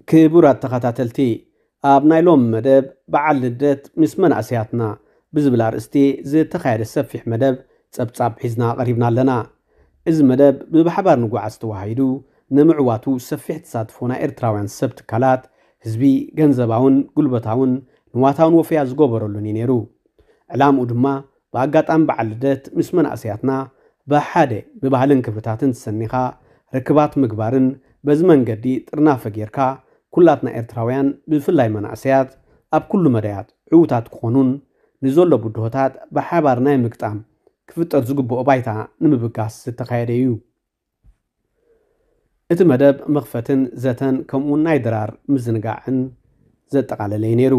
ክቡራት ተኸታተልቲ፣ ኣብ ናይ ሎም መደብ በዓል ልደት ምስ መናእሰያትና ብዝብል ኣርእስቲ ዝተኻየደ ሰፊሕ መደብ ጸብጻብ ሒዝና ቀሪብና ኣለና። እዚ መደብ ብባሕባር ንጓዓዝ ተዋሂዱ ንምዕዋቱ ሰፊሕ ተሳትፎ ናይ ኤርትራውያን ሰብ ትካላት፣ ህዝቢ ገንዘባውን ጉልበታውን ንዋታውን ወፈያ ዝገበረሉን እዩ ነይሩ። ዕላምኡ ድማ ብኣጋጣሚ በዓል ልደት ምስ መናእሰያትና ብሓደ ብባህልን ክብርታትን ተሰኒኻ ርክባት ምግባርን በዚ መንገዲ ጥርናፈ ጌርካ ኩላትና ኤርትራውያን ብፍላይ መናእሰያት ኣብ ኩሉ መዳያት ዕዉታት ክኾኑን ንዘሎ ብድሆታት ብሓባር ናይ ምግጣም ክፍጠር ዝግብኦ ባይታ ንምብጋስ ዝተኻየደ እዩ። እቲ መደብ መኽፈትን ዘተን ከምኡውን ናይ ድራር ምዝንጋዕን ዘጠቓለለ እዩ ነይሩ።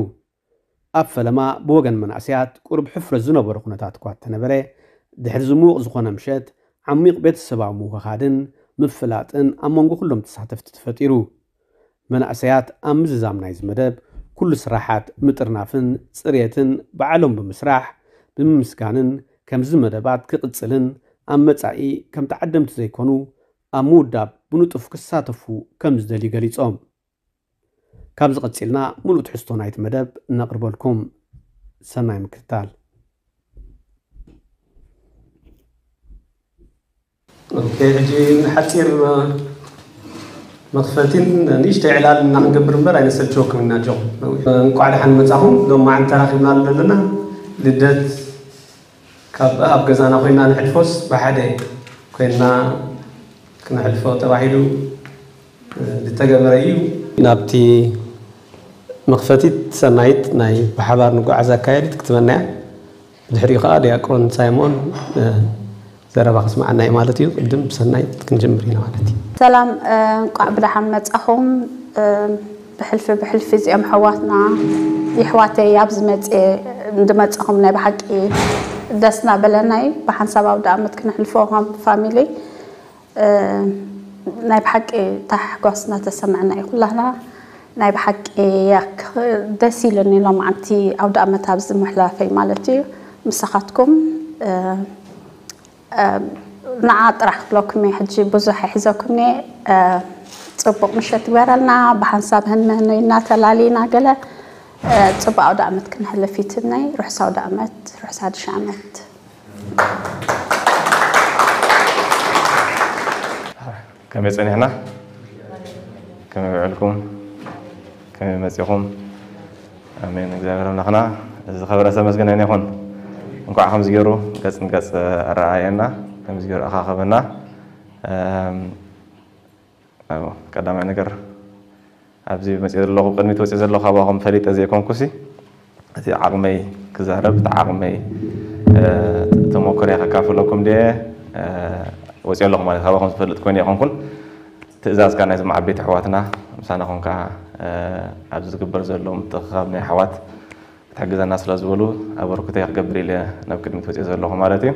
ኣብ ፈለማ ብወገን መናእሰያት ቁሩብ ሕፍረት ዝነበሮ ኩነታት እኳ እንተነበረ፣ ድሕሪ ዝምውቕ ዝኾነ ምሸት ዓሚቕ ቤተሰባዊ ምውህሃድን ምፍላጥን ኣብ መንጎ ኩሎም ተሳተፍቲ ተፈጢሩ። መናእሰያት ኣብ ምዝዛም ናይዚ መደብ ኩሉ ስራሓት ምጥርናፍን ጽሬትን ባዕሎም ብምስራሕ ብምምስጋንን ከምዚ መደባት ክቕጽልን ኣብ መጻኢ ከም ተዓደምቲ ዘይኮኑ ኣብ ምውዳብ ብንጡፍ ክሳተፉ ከም ዝደልዩ ገሊጾም። ካብዚ ቀጺልና ምሉእ ትሕዝቶ ናይቲ መደብ እነቕርበልኩም። ሰናይ ምክትታል። ኦኬ፣ ሕጂ ንሓጺር መኽፈቲን ንእሽተይ ዕላል እና ክንገብር እምበር ኣይነሰልችወኩም ኢና። ጆ፣ እንቋዕ ደሓን መጻኹም። ሎማዓንቲ ተራኺብና ዘለና ልደት ካብ ኣብ ገዛና ኮይና ንሕልፎስ ብሓደ ኮይና ክነሕልፎ ተባሂሉ ዝተገበረ እዩ። ናብቲ መኽፈቲት ሰናይት ናይ ብሓባር ንጓዓዝ ኣካየዲት ክትበና እያ። ብድሕሪኡ ከዓ ዲያቆን ሳይሞን ዘረባ ክስማዓና እዩ ማለት እዩ። ቅድም ብሰናይት ክንጅምር ኢና ማለት እዩ። ሰላም፣ እንቋዕ ብደሓን መጻኹም። ብሕልፊ ብሕልፊ እዚኦም ኣሕዋትና የሕዋተይ ኣብዚ መፅየ እንድመፀኹም ናይ ብሓቂ ደስ እናበለና እዩ። ብሓንሳብ ኣውደ ኣመት ክነሕልፎ ከም ፋሚሊ ናይ ብሓቂ ታሕጓስ እናተሰምዐና እዩ ኩላህና። ናይ ብሓቂ ደስ ኢሉኒ ሎማዓንቲ ኣውደ ኣመት ኣብዚ ምሕላፈይ ማለት እዩ። ምሳኻትኩም ንዓ ጥራሕ ክብለኩም እየ ሕጂ ብዙሕ ኣይሕዘኩም እየ። ፅቡቕ ምሸት ይግበረልና። ብሓንሳብ ህንምህን እናተላሊና ገለ ፅቡቕ ኣውደ ኣመት ክነሕልፍ ይትምነይ። ርሑስ ኣውደ ኣመት፣ ርሑስ ሓድሽ ኣመት። ከመይ ጸኒሕና? ከመይ ውዕልኩም? ከመይ መጺኹም? ኣሜን። እግዚኣብሔር ኣምላኽና ዝኸበረ ዝተመስገነ ይኹን። እንኳዕ ከምዚ ገይሩ ገጽ ንገጽ ኣረኣየና፣ ከምዚ ገይሩ ኣኻኸበና። ቀዳማይ ነገር ኣብዚ መፅእ ዘለኹ ቅድሚት ወፅእ ዘለኹ ካባኹም ፈሊጠ ዘይኮንኩሲ እቲ ዓቕመይ ክዛረብ እቲ ዓቕመይ ተመኩርያ ከካፍለኩም ድየ ወፅእ ኣለኹ ማለት ካባኹም ዝፈልጥ ኮይነ ይኾንኩን ትእዛዝ ከዓ ናይዞም ዓበይቲ ኣሕዋትና ምሳና ኮንካ ኣብዚ ዝግበር ዘሎ ምትእኽኻብ ናይ ኣሕዋት ክትሕግዘና ስለ ዝበሉ ኣበርክቶይ ክገብር ኢለ ናብ ቅድሚት ወፅየ ዘለኹ ማለት እዩ።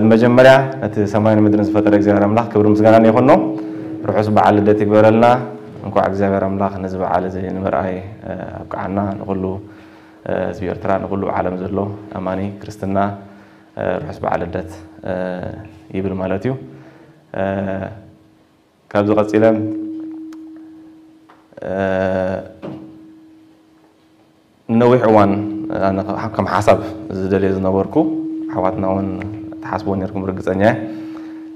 ብመጀመርያ ነቲ ሰማይን ምድርን ዝፈጠረ እግዚኣብሔር ኣምላኽ ክብሪ ምስጋናን ይኹኖ። ርሑስ በዓል ልደት ይግበረልና። እንኳዕ እግዚኣብሔር ኣምላኽ ነዚ በዓል እዚ ንምርኣይ ኣብቅዓና። ንኹሉ ህዝቢ ኤርትራ፣ ንኹሉ ዓለም ዘሎ ኣማኒ ክርስትና ርሑስ በዓል ልደት ይብል ማለት እዩ። ካብዚ ቀፂለ ንነዊሕ እዋን ኣነ ከም ሓሳብ ዝደልየ ዝነበርኩ ኣሕዋትና እውን ትሓስብዎ ነርኩም ርግፀኛ እየ።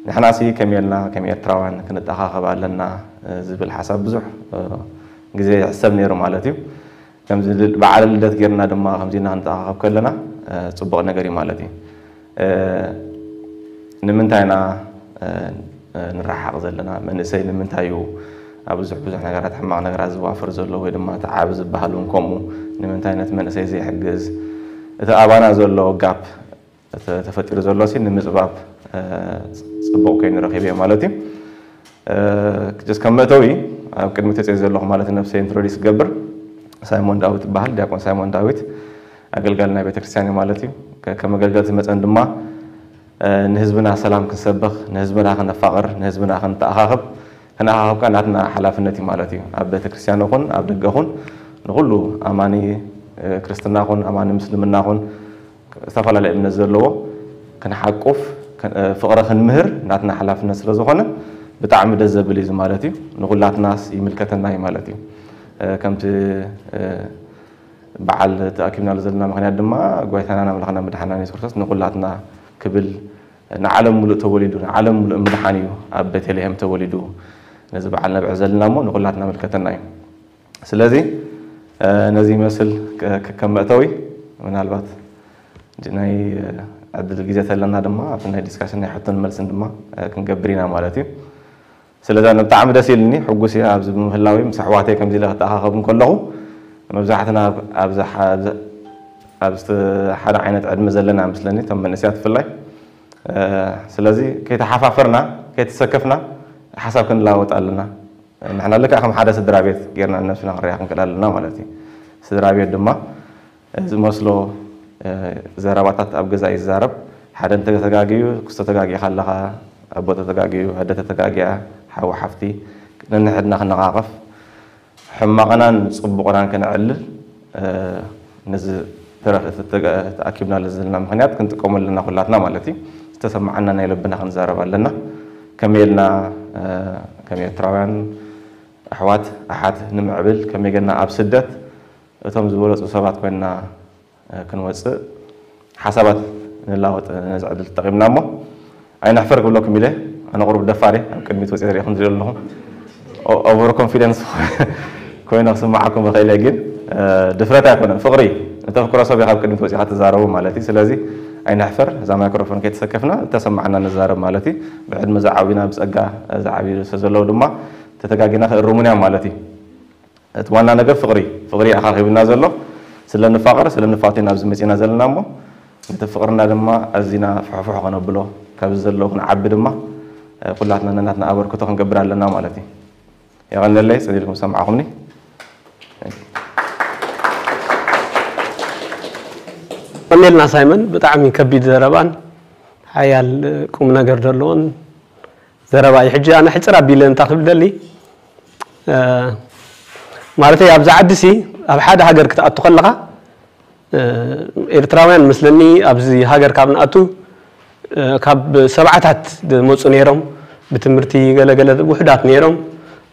ንሕናሲ ከመይ ኢልና ከም ኤርትራውያን ክንተኣኻኸብ ኣለና ዝብል ሓሳብ ብዙሕ ግዜ ይሕሰብ ነይሩ ማለት እዩ። ከምዚ በዓል ልደት ጌርና ድማ ከምዚ ኢና ክንተኣኻኸብ ከለና ፅቡቕ ነገር እዩ ማለት እዩ። ንምንታይ ኢና ንረሓቕ ዘለና? መንእሰይ ንምንታይ እዩ ኣብ ብዙሕ ብዙሕ ነገራት ሕማቕ ነገራት ዝዋፈር ዘሎ ወይ ድማ እቲ ዓብ ዝበሃል እውን ከምኡ ንምንታይ ነቲ መንእሰይ ዘይሕግዝ? እቲ ኣባና ዘሎ ጋፕ ተፈጢሩ ዘሎ ሲ ንምፅባብ ፅቡቕ ኮይኑ ረኺበዮ ማለት እዩ። ጀስ ከም መእተዊ ኣብ ቅድሚ ተፅዮ ዘለኹ ማለት ነብሰ ኢንትሮዲስ ክገብር ሳይሞን ዳዊት ይበሃል። ዲያቆን ሳይሞን ዳዊት ኣገልጋሊ ናይ ቤተክርስትያን እዩ ማለት እዩ። ከም ኣገልገልቲ መፀን ድማ ንህዝብና ሰላም ክንሰብኽ፣ ንህዝብና ክነፋቕር፣ ንህዝብና ክንተኣኻኽብ፣ ክንኣኻኽብ ከዓ ናትና ሓላፍነት እዩ ማለት እዩ። ኣብ ቤተክርስትያን ኹን ኣብ ደገ ኹን ንኹሉ ኣማኒ ክርስትና ኹን ኣማኒ ምስልምና ኹን ዝተፈላለየ እምነት ዘለዎ ክንሓቁፍ ፍቕሪ ክንምህር ናትና ሓላፍነት ስለ ዝኾነ ብጣዕሚ ደስ ዘብል እዩ ማለት እዩ። ንኹላትናስ ይምልከተና እዩ ማለት እዩ። ከምቲ በዓል ተኣኪብናሉ ዘለና ምኽንያት ድማ ጎይታናን ኣምላኽና መድሓናን የሱስ ክርስቶስ ንኹላትና ክብል ንዓለም ሙሉእ ተወሊዱ፣ ንዓለም ሙሉእ ምድሓን እዩ ኣብ ቤተልሔም ተወሊዱ። ነዚ በዓል ነብዕል ዘለና እሞ ንኹላትና ምልከተና እዩ። ስለዚ ነዚ ይመስል ከም መእተዊ ምናልባት ናይ ዕድል ግዜ ተለና ድማ ኣብቲ ናይ ዲስካሽን ናይ ሕቶን መልስን ድማ ክንገብር ኢና ማለት እዩ። ስለዚ ኣነ ብጣዕሚ ደስ ኢልኒ፣ ሕጉስ እየ ኣብዚ ብምህላዊ ምስ ኣሕዋተይ ከምዚ ኢለ ክተኣኻኸብ እንከለኹ መብዛሕትና ኣብዚ ሓደ ዓይነት ዕድመ ዘለና ምስለኒ እቶም መንእስያት ብፍላይ። ስለዚ ከይተሓፋፈርና ከይተሰከፍና ሓሳብ ክንለዋወጥ ኣለና። ንሕና ልክዕ ከም ሓደ ስድራ ቤት ጌርና ነብስና ክንሪኣ ክንክእል ኣለና ማለት እዩ። ስድራ ቤት ድማ ዝመስሎ ዘረባታት ኣብ ገዛ እዩ ዝዛረብ። ሓደ እንተተጋግዩ፣ ክስቶ ተጋጊኻ ኣለኻ፣ ኣቦ ተተጋግዩ፣ ኣደ ተተጋግያ፣ ሓው ሓፍቲ ነንሕድና ክነቓቐፍ ሕማቕናን ጽቡቕናን ከነዕልል ነዚ ተኣኪብናሉ ዘለና ምኽንያት ክንጥቀመሉ ኣለና ኩላትና ማለት እዩ። ዝተሰማዓና ናይ ልብና ክንዛረብ ኣለና። ከመይ ኢልና ከም ኤርትራውያን ኣሕዋት ኣሓት ንምዕብል ከመይ ጌርና ኣብ ስደት እቶም ዝበለጹ ሰባት ኮይንና ክንወጽእ ሓሳባት ንላወጥ ነዚ ዕድል ተጠቒምና እሞ ኣይንሕፈር ክብለኩም ኢለ። ኣነ ቁሩብ ደፋር እየ፣ ኣብ ቅድሚት ወጺአ ዝሪእኹም ዝሪኦ ኣለኹ። ኦቨር ኮንፊደንስ ኮይነ ክስምዓኩም ይኽእል እየ፣ ግን ድፍረት ኣይኮነን፣ ፍቕሪ እዩ። ንተፍቅሮ ሰብ ኢኻ ኣብ ቅድሚት ወጺኻ ትዛረቡ ማለት እዩ። ስለዚ ኣይንሕፈር፣ እዛ ማይክሮፎን ከይተሰከፍና እተሰማዓና ንዛረብ ማለት እዩ። ብዕድመ ዝዓብዩና ብጸጋ ዝዓብዩ ስለ ዘለዉ ድማ ተተጋጊና ክእርሙን እዮም ማለት እዩ። እቲ ዋና ነገር ፍቕሪ ፍቕሪ ኣኻኺብና ዘሎ። ስለ ንፋቐር ስለ ንፋተይ ናብዚ መፂና ዘለና እሞ ነቲ ፍቕርና ድማ ኣዚና ፍሕፍሕ ከነብሎ ካብዚ ዘለዎ ክንዓቢ ድማ ኩላትና ነናትና ኣበርክቶ ክንገብር ኣለና ማለት እዩ። የቐነለይ ፅን ኢልኩም ሰማዕኹምኒ። ቀኒልና ሳይመን ብጣዕሚ ከቢድ ዘረባን ሓያል ቁም ነገር ዘለዎን ዘረባ እዩ። ሕጂ ኣነ ሕፅር ኣቢለ እንታይ ክብል ደሊ ማለት ኣብዚ ዓዲ ሲ ኣብ ሓደ ሃገር ክትኣቱ ከለኻ ኤርትራውያን መስለኒ ኣብዚ ሃገር ካብ ንኣቱ ካብ ሰብዓታት ዝመፁ ነይሮም ብትምህርቲ ገለገለ ውሑዳት ነይሮም።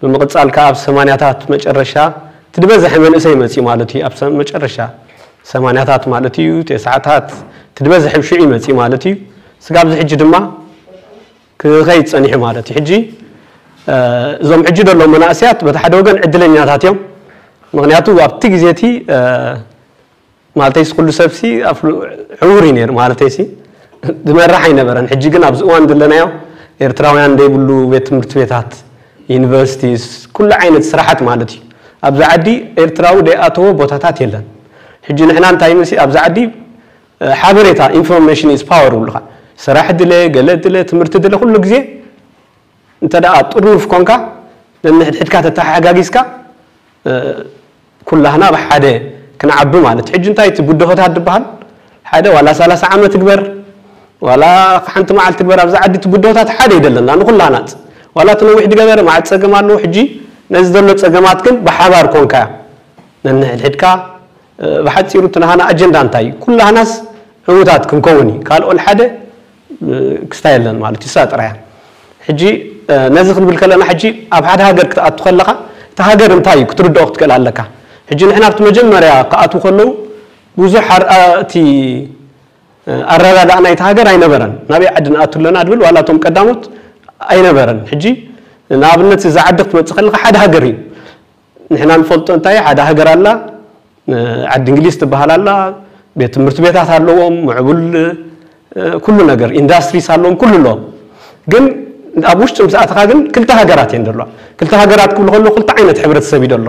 ብምቕፃል ከዓ ኣብ ሰማንያታት መጨረሻ እቲ ዝበዝሐ መንእሰይ መፂኡ ማለት እዩ። ኣብ መጨረሻ ሰማንያታት ማለት እዩ፣ ተስዓታት እቲ ዝበዝሐ ሽዑ ይመፅእ ማለት እዩ። ስጋብ እዚ ሕጂ ድማ ክኸይድ ፀኒሑ ማለት እዩ። ሕጂ እዞም ሕጂ ዘለዉ መናእሰያት በቲ ሓደ ወገን ዕድለኛታት እዮም። ምክንያቱ ኣብቲ ግዜ እቲ ማለተይሲ ኩሉ ሰብሲ ዕዉር እዩ ነይሩ ማለተይሲ ዝመራሕ ኣይነበረን። ሕጂ ግን ኣብዚ እዋን ዘለናዮ ኤርትራውያን ዘይብሉ ቤት ትምህርቲ ቤታት፣ ዩኒቨርሲቲስ፣ ኩሉ ዓይነት ስራሓት ማለት እዩ። ኣብዚ ዓዲ ኤርትራዊ ዘይኣተዎ ቦታታት የለን። ሕጂ ንሕና እንታይ ምስ ኣብዚ ዓዲ ሓበሬታ ኢንፎርሜሽን ኢዝ ፓወር ይብሉኻ። ስራሕ ድለ ገለ ድለ ትምህርቲ ድለ ኩሉ ግዜ እንተ ደኣ ጥርኑፍ ኮንካ ነንሕድሕድካ ተተሓጋጊዝካ ኩላህና ብሓደ ክንዓቢ ማለት ሕጂ እንታይ እቲ ብድሆታት ዝበሃል ሓደ ዋላ ሰላሳ ዓመት ግበር ዋላ ሓንቲ መዓልቲ ግበር ኣብዚ ዓዲ እቲ ብድሆታት ሓደ ይደለና ንኩላህና ዋላ እቲ ነዊሕ ድገበረ መዓት ፀገም ኣለዎ ሕጂ ነዚ ዘሎ ፀገማት ግን ብሓባር ኮንካ ነንሕድሕድካ ብሓፂሩ እቲ ናሃና ኣጀንዳ እንታይ እዩ ኩላህናስ ዕዉታት ክንከውን እዩ ካልኦ ሓደ ክስታ የለን ማለት እዩ እሳ ጥራያ ሕጂ ነዚ ክንብል ከለና ሕጂ ኣብ ሓደ ሃገር ክትኣቱ ከለካ እቲ ሃገር እንታይ እዩ ክትርድኦ ክትክእል ኣለካ ሕጂ ንሕና ኣብቲ መጀመርያ ክኣትዉ ከለዉ ብዙሕ ኣርኣእቲ ኣረዳድኣ ናይቲ ሃገር ኣይነበረን ናበይ ዓዲ ንኣቱ ኣለና ድብል ዋላ እቶም ቀዳሞት ኣይነበረን ሕጂ ንኣብነት እዚ ዓዲ ክትመፅእ ከለካ ሓደ ሃገር እዩ ንሕና ንፈልጦ እንታይ ሓደ ሃገር ኣላ ዓዲ እንግሊዝ ትበሃል ኣላ ቤት ትምህርቲ ቤታት ኣለዎም ምዕቡል ኩሉ ነገር ኢንዳስትሪስ ኣለዎም ኩሉ ኣለዎም ግን ኣብ ውሽጢ ምስ ኣተኻ ግን ክልተ ሃገራት እየን ዘለዋ ክልተ ሃገራት ክብሉ ከለዉ ክልተ ዓይነት ሕብረተሰብ እዩ ዘሎ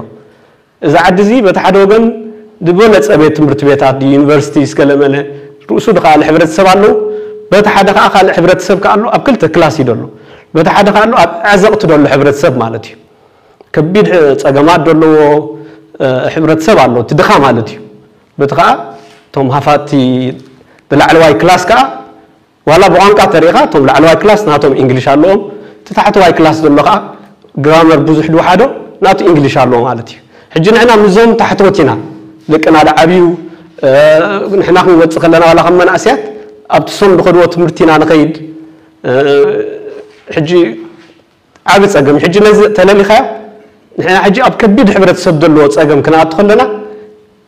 እዚ ዓዲ እዚ በቲ ሓደ ወገን ዝበለፀ ቤት ትምህርቲ ቤታት ዩኒቨርሲቲ ስገለመለ ርእሱ ድኸኣለ ሕብረተሰብ ኣለዉ በቲ ሓደ ከዓ ካልእ ሕብረተሰብ ከዓ ኣሎ ኣብ ክልተ ክላስ እዩ ዘሎ በቲ ሓደ ከዓ ኣሎ ኣብ ዕዘቕቲ ዘሎ ሕብረተሰብ ማለት እዩ ከቢድ ፀገማት ዘለዎ ሕብረተሰብ ኣሎ እቲ ድኻ ማለት እዩ በቲ ከዓ እቶም ሃፋቲ ብላዕለዋይ ክላስ ከዓ ዋላ ብቋንቋ ተሪኢኻ እቶም ላዕለዋይ ክላስ ናቶም እንግሊሽ ኣለዎም እቲ ታሕተዋይ ክላስ ዘሎ ከዓ ግራመር ብዙሕ ድውሓዶ ናቱ እንግሊሽ ኣለዎ ማለት እዩ ሕጂ ንሕና ምዞም ታሕተወት ኢና ደቅና ዝዓብዩ ንሕና ክንወፅእ ከለና ዋላ ከም መናእስያት ኣብቲ ሶም ዝኸድዎ ትምህርቲ ኢና ንኸይድ ሕጂ ዓቢ ጸገም ሕጂ ነዚ ተለሊኻዮ። ንሕና ሕጂ ኣብ ከቢድ ሕብረተሰብ ዘለዎ ጸገም ክንኣቱ ከለና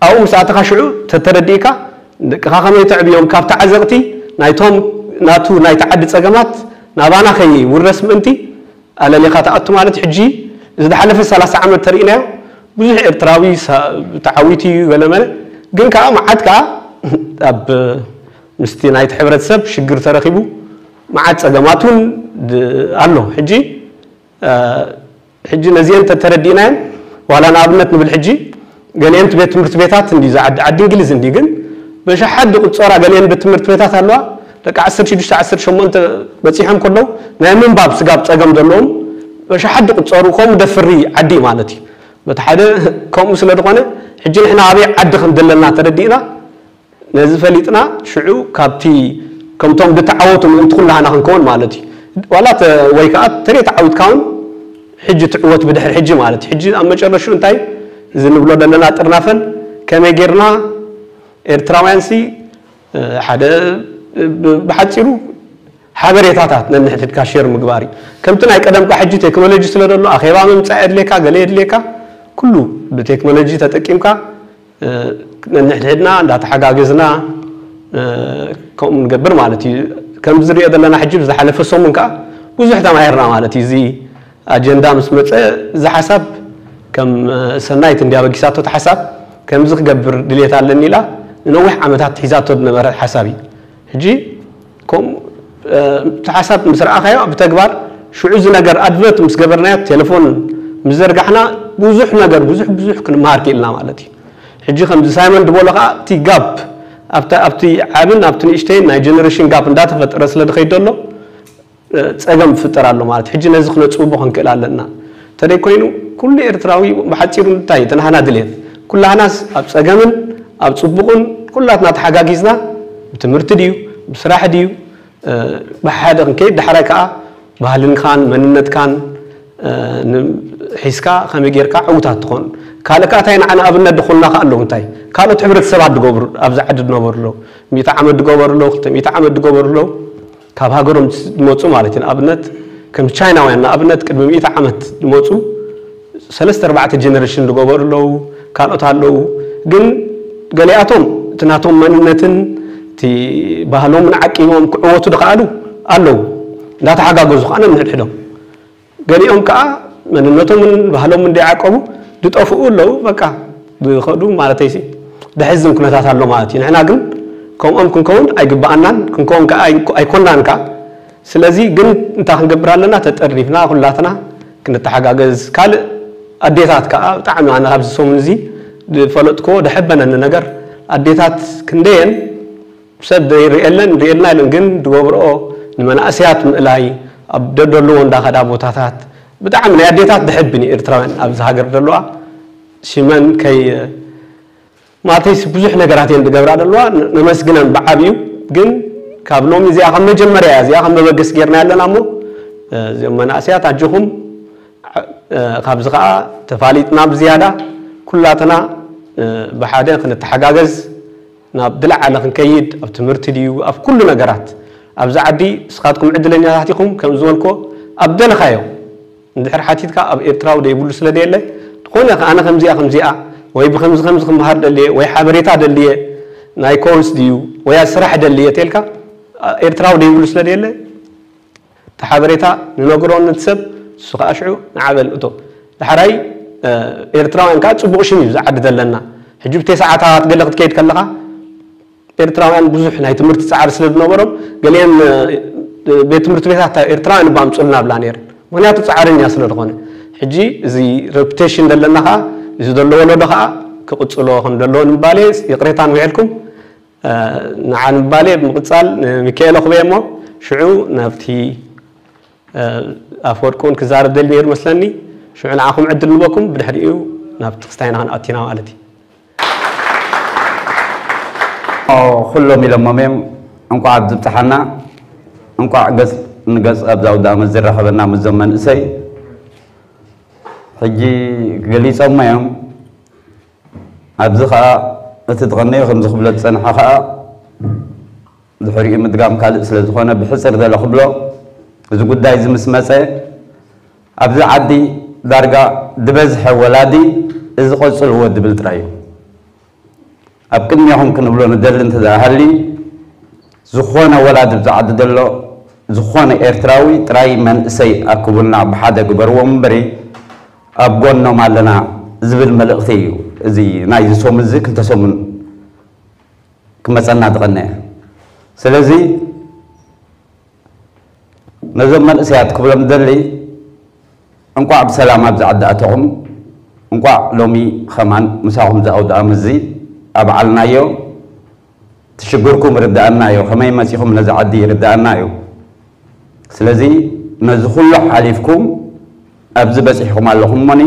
ኣብኡ ምስ ኣተኻ ሽዑ ተተረዲእካ ደቅኻ ከመይ ተዕብዮም ካብቲ ዓዘቕቲ ናይቶም ናቱ ናይቲ ዓዲ ጸገማት ናባና ከይውረስ ምእንቲ ኣለሊኻ ትኣቱ ማለት እዩ። ሕጂ እዚ ዝሓለፈ ሰላሳ ዓመት ተርእናዮ ብዙሕ ኤርትራዊ ሳ- ተዓዊቱ እዩ ገለመለ ግን ከዓ መዓት ከዓ ኣብ ምስቲ ናይቲ ሕብረተሰብ ሽግር ተረኺቡ መዓት ጸገማት እውን ድ- ኣሎ። ሕጂ ሕጂ ነዚአን ተተረዲእናየን ዋላ ንኣብነት ንብል ሕጂ ገሊአን ቤት ትምህርቲ ቤታት እንዲ ዝዓዲ ዓዲ እንግሊዝ እንዲ ግን በሻሓት ዝቁፀራ ገሊአን ቤት ትምህርቲ ቤታት ኣለዋ ደቂ ዓሰርተ ሽዱሽተ ዓሰርተ ሸሞንተ በፂሖም ከለዉ ናይ ምንባብ ስጋብ ፀገም ዘለዎም በሻሓት ዝቁፀሩ ከምኡ ደፍሪ ዓዲ ማለት እዩ በቲ ሓደ ከምኡ ስለ ዝኾነ ሕጂ ንሕና ኣበይ ዓዲ ከም ዘለና ተረዲእና ነዚ ፈሊጥና ሽዑ ካብቲ ከምቶም ዝተዓወቱ ምእንቲ ኩላህና ክንከውን ማለት እዩ ዋላ ተ- ወይ ከዓ ተደይ ተዓዊትካ እውን ሕጂ ትዕወት ብድሕሪ ሕጂ ማለት እዩ ሕጂ ኣብ መጨረሹ እንታይ እዚ ንብሎ ዘለና ጥርናፈን ከመይ ጌርና ኤርትራውያን ሲ ሓደ ብ- ብሓፂሩ ሓበሬታታት ነንሕድሕድካ ሼር ምግባር እዩ ከምቲ ናይ ቀደምካ ሕጂ ቴክኖሎጂ ስለ ዘሎ ኣኼባ ምምፃእ የድልየካ ገለ የድልየካ ኩሉ ብቴክኖሎጂ ተጠቂምካ ነንሕድሕድና እንዳተሓጋገዝና ከምኡ ንገብር ማለት እዩ ከምዚ ዝሪኦ ዘለና ሕጂ ብዝሓለፈ ሰሙን ከዓ ብዙሕ ተማሂርና ማለት እዩ እዚ ኣጀንዳ ምስ መፀ እዚ ሓሳብ ከም ሰናይት እንዲ ኣበጊሳቶ እቲ ሓሳብ ከምዚ ክገብር ድልየት ኣለኒ ኢላ ንነዊሕ ዓመታት ሒዛቶ ዝነበረ ሓሳብ እዩ ሕጂ ከምኡ እቲ ሓሳብ ምስ ረኣኻዮ ብተግባር ሽዑ እዚ ነገር ኣድቨርት ምስ ገበርናዮ ቴሌፎን ምስ ዘርጋሕና ብዙሕ ነገር ብዙሕ ብዙሕ ክንመሃር ክኢልና ማለት እዩ ሕጂ ከምዚ ሳይመን ዝበሎ ከዓ እቲ ጋፕ ኣብቲ ዓብን ኣብቲ ንእሽተይን ናይ ጀነሬሽን ጋፕ እንዳተፈጠረ ስለ ዝኸይድ ዘሎ ፀገም ፍጠር ኣሎ ማለት ሕጂ ነዚ ክነፅብቦ ክንክእል ኣለና እንተደይ ኮይኑ ኩሉ ኤርትራዊ ብሓፂሩ እንታይ ተናህና ድሌት ኩላህናስ ኣብ ፀገምን ኣብ ፅቡቕን ኩላትና ተሓጋጊዝና ብትምህርቲ ድዩ ብስራሕ ድዩ ብሓደ ክንከይድ ዳሕራይ ከዓ ባህልንካን መንነትካን ሒዝካ ከመይ ጌርካ ዕውታት ትኾን ካልእ ከዓ እንታይ ንዓና ኣብነት ዝኾንና ከዓ ኣለዉ እንታይ ካልኦት ሕብረተሰባት ድገብሩ ኣብዚ ዓዲ ድነበሩ ኣለዉ ሚእቲ ዓመት ድገበሩ ኣለዉ ክልተ ሚእቲ ዓመት ድገበሩ ኣለዉ ካብ ሃገሮም ዝመፁ ማለት እዩ ንኣብነት ከም ቻይናውያን ንኣብነት ቅድሚ ሚእቲ ዓመት ዝመፁ ሰለስተ ኣርባዕተ ጀነሬሽን ዝገበሩ ኣለዉ ካልኦት ኣለዉ ግን ገሊኣቶም እቲ ናቶም መንነትን እቲ ባህሎምን ዓቂቦም ክዕወቱ ዝኸኣሉ ኣለዉ እንዳተሓጋገዙ ከዓ ነንሕድሕዶም ገሊኦም ከዓ መንነቶምን ባህሎምን እንዳዓቀቡ ዝጠፍኡ ኣለዉ በቃ ዝኸዱ ማለተይሲ ደሕዝን ኩነታት ኣሎ ማለት እዩ ንሕና ግን ከምኦም ክንከውን ኣይግበኣናን ክንከውን ከዓ ኣይኮናን ከዓ ስለዚ ግን እንታይ ክንገብር ኣለና ተጠርኒፍና ኩላትና ክንተሓጋገዝ ካልእ ኣዴታት ከዓ ብጣዕሚ ኣነ ኣብዚ ሰሙን እዚ ዝፈለጥክዎ ደሐበነኒ ነገር ኣዴታት ክንደየን ሰብ ዘይርእየለን ርእየልና ኢለን ግን ዝገብርኦ ንመናእሰያት ምእላይ ኣብ ደደልዎ እንዳኸዳ ቦታታት ብጣዕሚ ናይ ኣዴታት ደሐብን እዩ ኤርትራውያን ኣብዚ ሃገር ዘለዋ ሽመን ከይ ማለተይሲ ብዙሕ ነገራት እየን ዝገብራ ዘለዋ ነመስግነን ብዓብዩ ግን ካብ ሎሚ እዚኣ ከም መጀመርያ እያ እዚኣ ከም መበገስ ጌርና ኣለና እሞ እዚኦም መናእሰያት ኣጆኹም ካብዚ ከዓ ተፋሊጥና ብዝያዳ ኩላትና ብሓደ ክንተሓጋገዝ ናብ ዝለዓለ ክንከይድ ኣብ ትምህርቲ ድዩ ኣብ ኩሉ ነገራት ኣብዚ ዓዲ ንስኻትኩም ዕድለኛታት ኢኹም ከም ዝበልኮ ኣብ ደለኻዮ እንድሕር ሓቲትካ ኣብ ኤርትራዊ ደይብሉ ስለ ደየለ ዝኾነ ኣነ ከምዚኣ ከምዚኣ ወይ ብከምዚ ከምዚ ክመሃር ደልየ ወይ ሓበሬታ ደልየ ናይ ኮርስ ድዩ ወይ ስራሕ ደልየ ተልካ ኤርትራዊ ደይብሉ ስለ ደየለ እቲ ሓበሬታ ንነግሮ ነቲ ሰብ ንሱ ከዓ ሽዑ ንዓበል እቶ ዳሕራይ ኤርትራውያን ከዓ ፅቡቕ ሽም እዩ ዝዓዲ ዘለና ሕጂ ብተይ ሰዓታት ገለ ክትከይድ ከለኻ ኤርትራውያን ብዙሕ ናይ ትምህርቲ ፃዕሪ ስለ ዝነበሮም ገሊአን ቤት ትምህርቲ ቤታት ኤርትራውያን እባ ኣምፁልና ብላ ነይረን ምክንያቱ ፃዕረኛ ስለ ዝኾነ ሕጂ እዚ ሬፑቴሽን ዘለና ከዓ እዚ ዘሎ ወለዶ ከዓ ክቕፅሎ ከም ዘለዎ ንምባል ይቕሬታ ንውዕልኩም ንዓ ንምባል ብምቕፃል ንሚካኤል ኣኽበየ እሞ ሽዑ ናብቲ ኣፍወርቂ እውን ክዛረብ ደሊ ነይሩ መስለኒ ሽዑ ንዓኹም ዕድል ንበኩም ብድሕሪኡ ናብ ትክስታይና ክንኣቲና ማለት እዩ ኩሎም ኢሎሞም እዮም እንቋዕ ኣብዝብፅሓና እንቋዕ ገፅ ንገፅ ኣብዛ ውዳመ ዝራኸበና ምስዞም መንእሰይ ሕጂ ገሊፆሞ እዮም ኣብዚ ከዓ እቲ ዝቐነዮ ከምዚ ክብሎ ዝፀንሐ ከዓ ድሕሪኡ ምድጋም ካልእ ስለ ዝኾነ ብሕፅር ዘለ ክብሎ እዚ ጉዳይ እዚ ምስ መፀ ኣብዚ ዓዲ ዳርጋ ዝበዝሐ ወላዲ እዚ ቀጽልዎ ድብል ጥራይ እዩ። ኣብ ቅድሚኹም ክንብሎ ንደሊ እንተ ደኣ ሃልዩ፣ ዝኾነ ወላዲ ኣብዚ ዓዲ ዘሎ፣ ዝኾነ ኤርትራዊ ጥራይ መንእሰይ ኣክቡልና፣ ብሓደ ግበርዎም እምበሪ ኣብ ጎኖም ኣለና ዝብል መልእኽቲ እዩ። እዚ ናይዚ ሰሙን እዚ ክልተ ሰሙን ክመጸና ዝቐነየ። ስለዚ ነዞም መንእሰያት ክብሎም ደሊ፣ እንቋዕ ብሰላም ኣብዚ ዓዲ ኣተኹም። እንቋዕ ሎሚ ኸማን ምሳኹም ዝኣውድኣም እዚ ኣብዓልናዮ። ትሽግርኩም ርዳእናዮ፣ ከመይ መጺኹም ነዚ ዓዲ ርዳእናዮ። ስለዚ ነዚ ኩሉ ሓሊፍኩም ኣብዚ በጺሕኩም ኣለኹም እሞኒ፣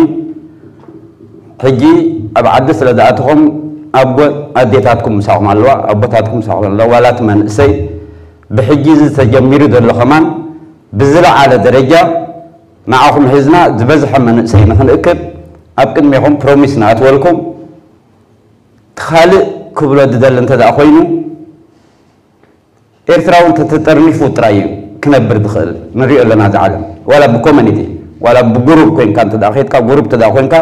ሕጂ ኣብ ዓዲ ስለ ዝኣተኹም ኣቦ ኣዴታትኩም ምሳኹም ኣለዋ፣ ኣቦታትኩም ምሳኹም ኣለዋ። ዋላ እቲ መንእሰይ ብሕጂ እዚ ተጀሚሩ ዘሎ ኸማን ብዝለዓለ ደረጃ ንዓኹም ሒዝና ዝበዝሐ መንእሰይ ንኽንእክብ ኣብ ቅድሜኹም ፕሮሚስ ንኣትወልኩም። እቲ ካልእ ክብሎ ዝደሊ እንተ ደኣ ኮይኑ፣ ኤርትራዊ እንተተጠርኒፉ ጥራይ እዩ ክነብር ዝኽእል። ንሪኦ ኣለና እዚ ዓለም። ዋላ ብኮሚኒቲ፣ ዋላ ብጉሩብ ኮይንካ እንተ ደኣ ኸይድካ፣ ጉሩብ እንተ ደኣ ኮይንካ፣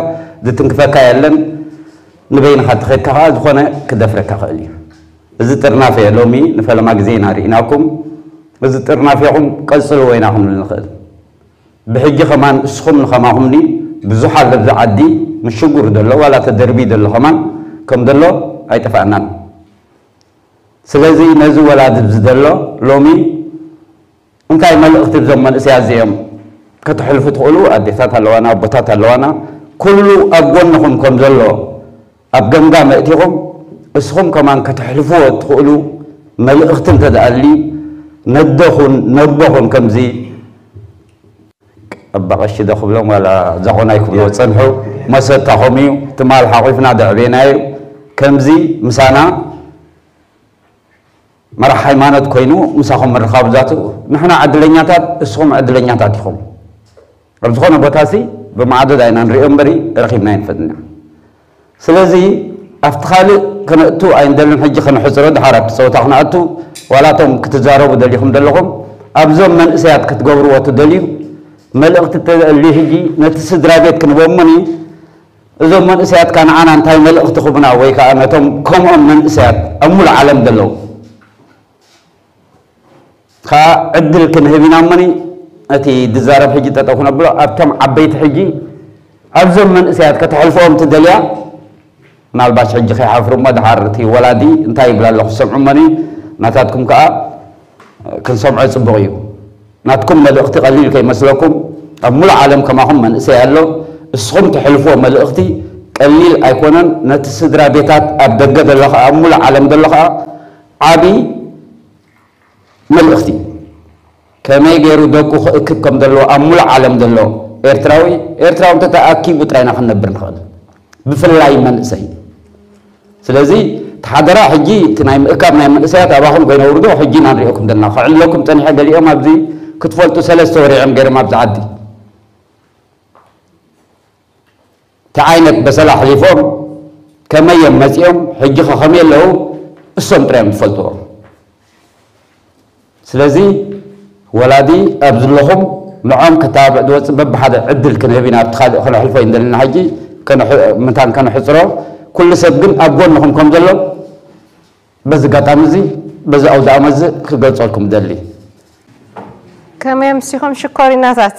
ዝትንክፈካ የለን። ንበይንኻ እንተኸይድካ ኸዓ ዝኾነ ክደፍረካ ኽእል እዩ። እዚ ጥርናፈ ሎሚ ንፈለማ ግዜ ኢና ርኢናኩም። እዚ ጥርናፌኹም ቀጽልዎ ኢና ክንብል ንኽእል። ብሕጂ ኸማን እስኹም ንኸማኹምኒ ብዙሓት ኣብዚ ዓዲ ምሽጉር ዘሎ፣ ዋላ ተደርቢ ዘሎ ኸማን ከም ዘሎ ኣይጠፍኣናን። ስለዚ ነዚ ወላዲ ኣብዚ ዘሎ ሎሚ እንታይ መልእኽቲ እዞም መንእሰያት እዚኦም ከተሕልፉ ትኽእሉ? ኣዴታት ኣለዋና፣ ኣቦታት ኣለዋና። ኩሉ ኣብ ጎንኹም ከም ዘሎ ኣብ ገምጋም ኣእቲኹም፣ እስኹም ከማን ከተሕልፍዎ እትኽእሉ መልእኽቲ እንተ ደኣ ኣልዩ፣ ነደኹን ነቦኹን ከምዚ ኣባ ቀሺ ዶ ክብሎም ዋላ ዛኾናይ ክብልዎ ዝጸንሑ መሰታኹም እዩ። ትማል ሓቑፍና ዘዕበናዮ ከምዚ ምሳና መራሕ ሃይማኖት ኮይኑ ምሳኹም ምርኻቡ ዛቱ፣ ንሕና ዕድለኛታት፣ እስኹም ዕድለኛታት ኢኹም። ኣብ ዝኾነ ቦታሲ ብማዕዶ ዳይና ንሪኦ እምበሪ ረኺብና ኣይንፈልጥን ኢና። ስለዚ ኣብቲ ካልእ ከነእቱ ኣይንደልን። ሕጂ ከነሕፅሮ፣ ድሓር ኣብቲ ፀወታ ክነኣቱ፣ ዋላ እቶም ክትዛረቡ ደሊኹም ዘለኹም፣ ኣብዞም መንእሰያት ክትገብርዎ ትደልዩ፣ መልእኽቲ ተልዩ ሕጂ ነቲ ስድራ ቤት ክንበሞኒ፣ እዞም መንእሰያት ከ ንዓና እንታይ መልእኽቲ ክቡና፣ ወይ ከዓ ነቶም ከምኦም መንእሰያት ኣብ ሙሉእ ዓለም ዘለዉ ከኣ ዕድል ክንህብ ኢና እሞኒ፣ እቲ ዝዛረብ ሕጂ ጠጠው ክነብሎ፣ ኣብቶም ዓበይቲ ሕጂ ኣብዞም መንእሰያት ከተሕልፍኦም ትደልያ፣ ምናልባሽ ሕጂ ከይሓፍሩ እሞ ድሓር እቲ ወላዲ እንታይ ይብል ኣሎ ክሰምዑ እሞኒ፣ ናታትኩም ከኣ ክንሰምዖ ጽቡቕ እዩ። ናትኩም መልእኽቲ ቀሊል ከይመስለኩም፣ ኣብ ሙሉእ ዓለም ከማኹም መንእሰይ ኣሎ። እስኹም ተሕልፍዎ መልእኽቲ ቀሊል ኣይኮነን። ነቲ ስድራ ቤታት ኣብ ደገ ዘሎ ከኣ፣ ኣብ ሙሉእ ዓለም ዘሎ ከኣ ዓቢ መልእኽቲ፣ ከመይ ገይሩ ደቁ ክእክብ ከም ዘለዎ ኣብ ሙሉእ ዓለም ዘሎ ኤርትራዊ፣ ኤርትራዊ እንተተኣኪቡ ጥራይ ኢና ክንነብር ንኽእል፣ ብፍላይ መንእሰይ። ስለዚ እቲ ሓደራ ሕጂ እቲ ናይ ምእካብ ናይ መንእሰያት ኣባኹም ከይነውርዶ ሕጂ ኢና ንሪኦኩም ዘለና። ከዕልለኩም ጸኒሐ፣ ገሊኦም ኣብዚ ክትፈልጡ ሰለስተ ወርዒ እዮም ገይሮም ኣብዚ ዓዲ። እንታይ ዓይነት በሰላ ኣሕሊፎም፣ ከመይ እዮም መጺኦም፣ ሕጂ ኸ ከመይ ኣለዉ፣ እሶም ጥራይ እዮም ዝፈልጥዎ። ስለዚ ወላዲ ኣብ ዘለኹም ንዖም ከተባብዕ ዝወጽእ በብሓደ ዕድል ክንህብ ኢና፣ ኣብቲ ካልእ ከነሕልፎ እዩ እንደለና ሕጂ፣ ከነሕ-፣ ምንታን ከነሕጽሮ፣ ኩሉ ሰብ ግን ኣብ ጎንኹም ከም ዘሎ በዚ ኣጋጣሚ እዚ፣ በዚ ኣውደ ኣመት እዚ ክገልጸልኩም እደሊ። ከመይ ኣምሲኹም ሽኮሪናታት?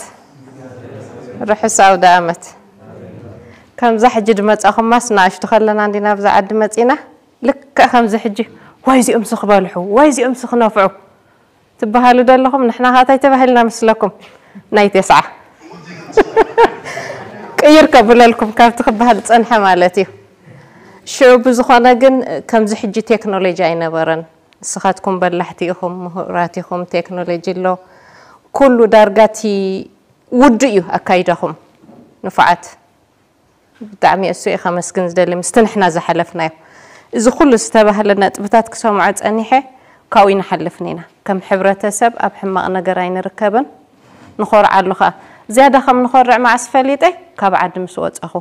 ርሑስ ኣውደ ኣመት። ከምዛ ሕጂ ድመጻኹማስ ንኣሽቱ ከለና እንዲና ኣብዛ ዓዲ መጺና፣ ልክዕ ከምዚ ሕጂ፣ "ዋይ እዚኦምሲ ክበልሑ፣ ዋይ እዚኦምሲ ክነፍዑ" ትበሃሉ ዶ ኣለኹም? ንሕና ኸኣ እንታይ ተባሂልና መስለኩም? ናይ ተስዓ። ቅይር ከብለልኩም ካብቲ ክበሃል ዝጸንሐ ማለት እዩ። ሽዑ ብዝኾነ ግን ከምዚ ሕጂ ቴክኖሎጂ ኣይነበረን። ንስኻትኩም በላሕቲ ኢኹም፣ ምሁራት ኢኹም፣ ቴክኖሎጂ ኣሎ። ኩሉ ዳርጋ እቲ ውዱእ እዩ ኣካይዳኹም። ንፉዓት። ብጣዕሚ እሱ እየ ከመስግን ዝደሊ፣ ምስቲ ንሕና ዝሓለፍናዮ። እዚ ኩሉ ዝተባህለ ነጥብታት ክሰምዖ ጸኒሐ፣ ካብኡ ኣይንሓልፍን ኢና። ከም ሕብረተሰብ ኣብ ሕማቕ ነገር ኣይንርከብን፣ ንኾርዓሉ ኸኣ። ዝያዳ ከም ንኾርዕ መዓስ ፈሊጠ? ካብ ዓዲ ምስ ወጻኹ።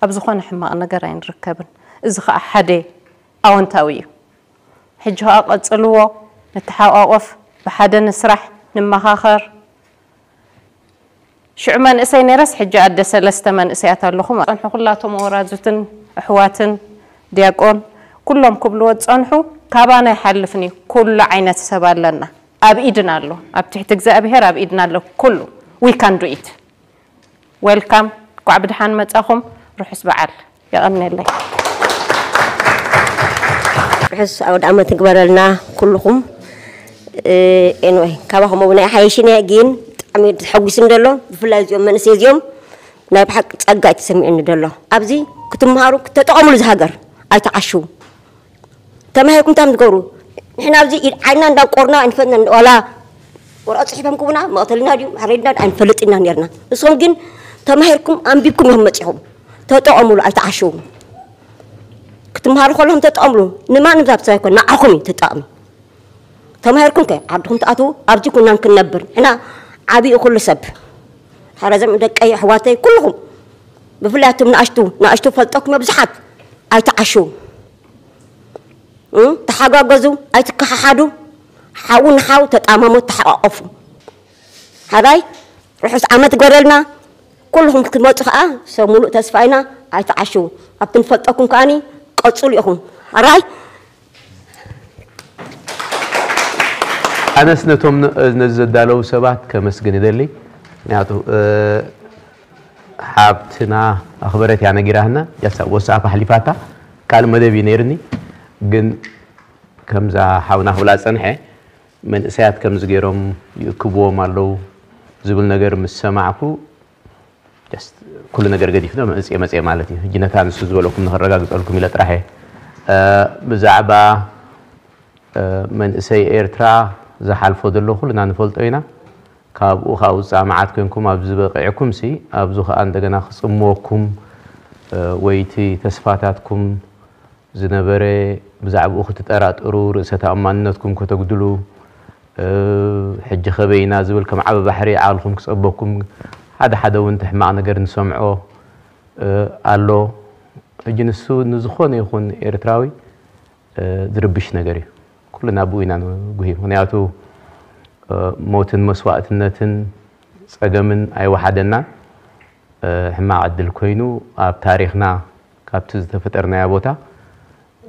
ኣብ ዝኾነ ሕማቕ ነገር ኣይንርከብን። እዚ ኸኣ ሓደ ኣወንታዊ እዩ። ሕጂ ኸኣ ቀጽልዎ፣ ንተሓቋቆፍ፣ ብሓደ ንስራሕ፣ ንመኻኸር። ሽዑ መንእሰይ ነይረስ፣ ሕጂ ኣደ ሰለስተ መንእሰያት ኣለኹ። ጸንሑ ኩላቶም ወራዙትን ኣሕዋትን ዲያቆን ኩሎም ክብልዎ ዝጸንሑ፣ ካባና ኣይሓልፍን እዩ። ኩሉ ዓይነት ሰብ ኣለና። ኣብ ኢድና ኣሎ። ኣብ ትሕቲ እግዚኣብሔር ኣብ ኢድና ኣሎ። ኩሉ we can do it። Welcome። እንኳዕ ብደሓን መጻኹም። ርሑስ በዓል። የቐንየለይ። ርሑስ ኣውደ ዓመት ይግበረልና ኩልኹም። ኤንወይ፣ ካባኹም እውን ኣይሓይሽን እየ፣ ግን ብጣዕሚ ተሐጒስን ዘሎ። ብፍላይ እዚኦም መንእሰይ እዚኦም ናይ ብሓቂ ጸጋ እዩ ተሰሚዑኒ ዘሎ። ኣብዚ ክትመሃሩ፣ ክተጠቐምሉ፣ እዚ ሃገር ኣይትዓሽዉ። ተማሂርኩም እንታይ ትገብሩ? ንሕና ኣብዚ ኢድ ዓይና እንዳቆርና ኣይንፈልጥና፣ ዋላ ወረቐት ጽሒፎም ክቡና መቕተልና ድዩ ማሕረድና ኣይንፈልጥ ኢና ነርና። ንስኹም ግን ተማሂርኩም ኣንቢብኩም ኢኹም መጺኹም። ተጠቐምሉ፣ ኣይትዓሽዉ። ክትመሃሩ ከለኹም ተጠቐምሉ። ንማንም ዛብ ሰብ ኣይኮን፣ ንዓኹም እዩ ተጠቐሚ። ተማሂርኩም ከ ዓድኹም ትኣትዉ፣ ኣብዚ ኩናን ክንነብር። ንሕና ዓብዩ ኩሉ ሰብ፣ ሓረዘም ደቀይ ኣሕዋተይ ኩልኹም፣ ብፍላይ ኣቱም ንኣሽቱ ንኣሽቱ ፈልጠኩም ብዙሓት ኣይትዓሽዉ። እ? ተሓጋገዙ፣ ኣይትከሓሓዱ። ሓው ንሓው ተጣማሙ፣ ተሓቋቆፉ። ሓራይ ርሑስ ዓመት ይግበረልና። ኩልኹም ክትመፁ ከዓ ሰብ ሙሉእ ተስፋ ኢና። ኣይትዓሽዉ። ኣብቲ ንፈልጠኩም ከዓኒ ቀፅሉ ኢኹም። ሓራይ ኣነስ ነቶም ነ- ነዚ ዘዳለዉ ሰባት ከመስግን ይደሊ። ምክንያቱ እ፣ ሓብትና ኣኽበረት እያ ነጊራህና። ያሳ ወሳኣ ኣሕሊፋታ ካልእ መደብ እዩ ነይርኒ። ግን ከምዛ ሓውና ክብላ ዝጸንሐ መንእሰያት ከምዚ ገይሮም ይእክብዎም ኣለዉ ዝብል ነገር ምስ ሰማዕኩ just ኩሉ ነገር ገዲፍና መጽየ መጽየ ማለት እዩ። ሕጂ ነታ ንሱ ዝበለኩም ንኸረጋግጸልኩም ኢለ ጥራሕ እየ። እ፣ ብዛዕባ እ፣ መንእሰይ ኤርትራ ዝሓልፎ ዘሎ ኩልና ንፈልጦ ኢና። ካብኡ ካብ ውጻእ መዓት ኮንኩም ኣብዚ በቂዕኩም ሲ ኣብዚ ከኣ እንደገና ክጽምወኩም እ፣ ወይ እቲ ተስፋታትኩም ዝነበረ ብዛዕባኡ ክትጠራጠሩ፣ ርእሰ ተኣማንነትኩም ከተጉድሉ፣ እ፣ ሕጂ ከበይ ኢና ዝብል ከም ዓቢ ባሕሪ ዓቕልኩም ክጸበኩም፣ ሓደ ሓደ እውን እቲ ሕማቕ ነገር ንሰምዖ እ፣ ኣሎ። ሕጂ ንሱ ንዝኾነ ይኹን ኤርትራዊ እ፣ ዝርብሽ ነገር እዩ። ኩልና ብኡ ኢና ንጉሂ። ምክንያቱ እ፣ ሞትን መስዋእትነትን ጸገምን ኣይወሓደናን። እ፣ ሕማቕ ዕድል ኮይኑ ኣብ ታሪኽና ካብቲ ዝተፈጠርናዮ ቦታ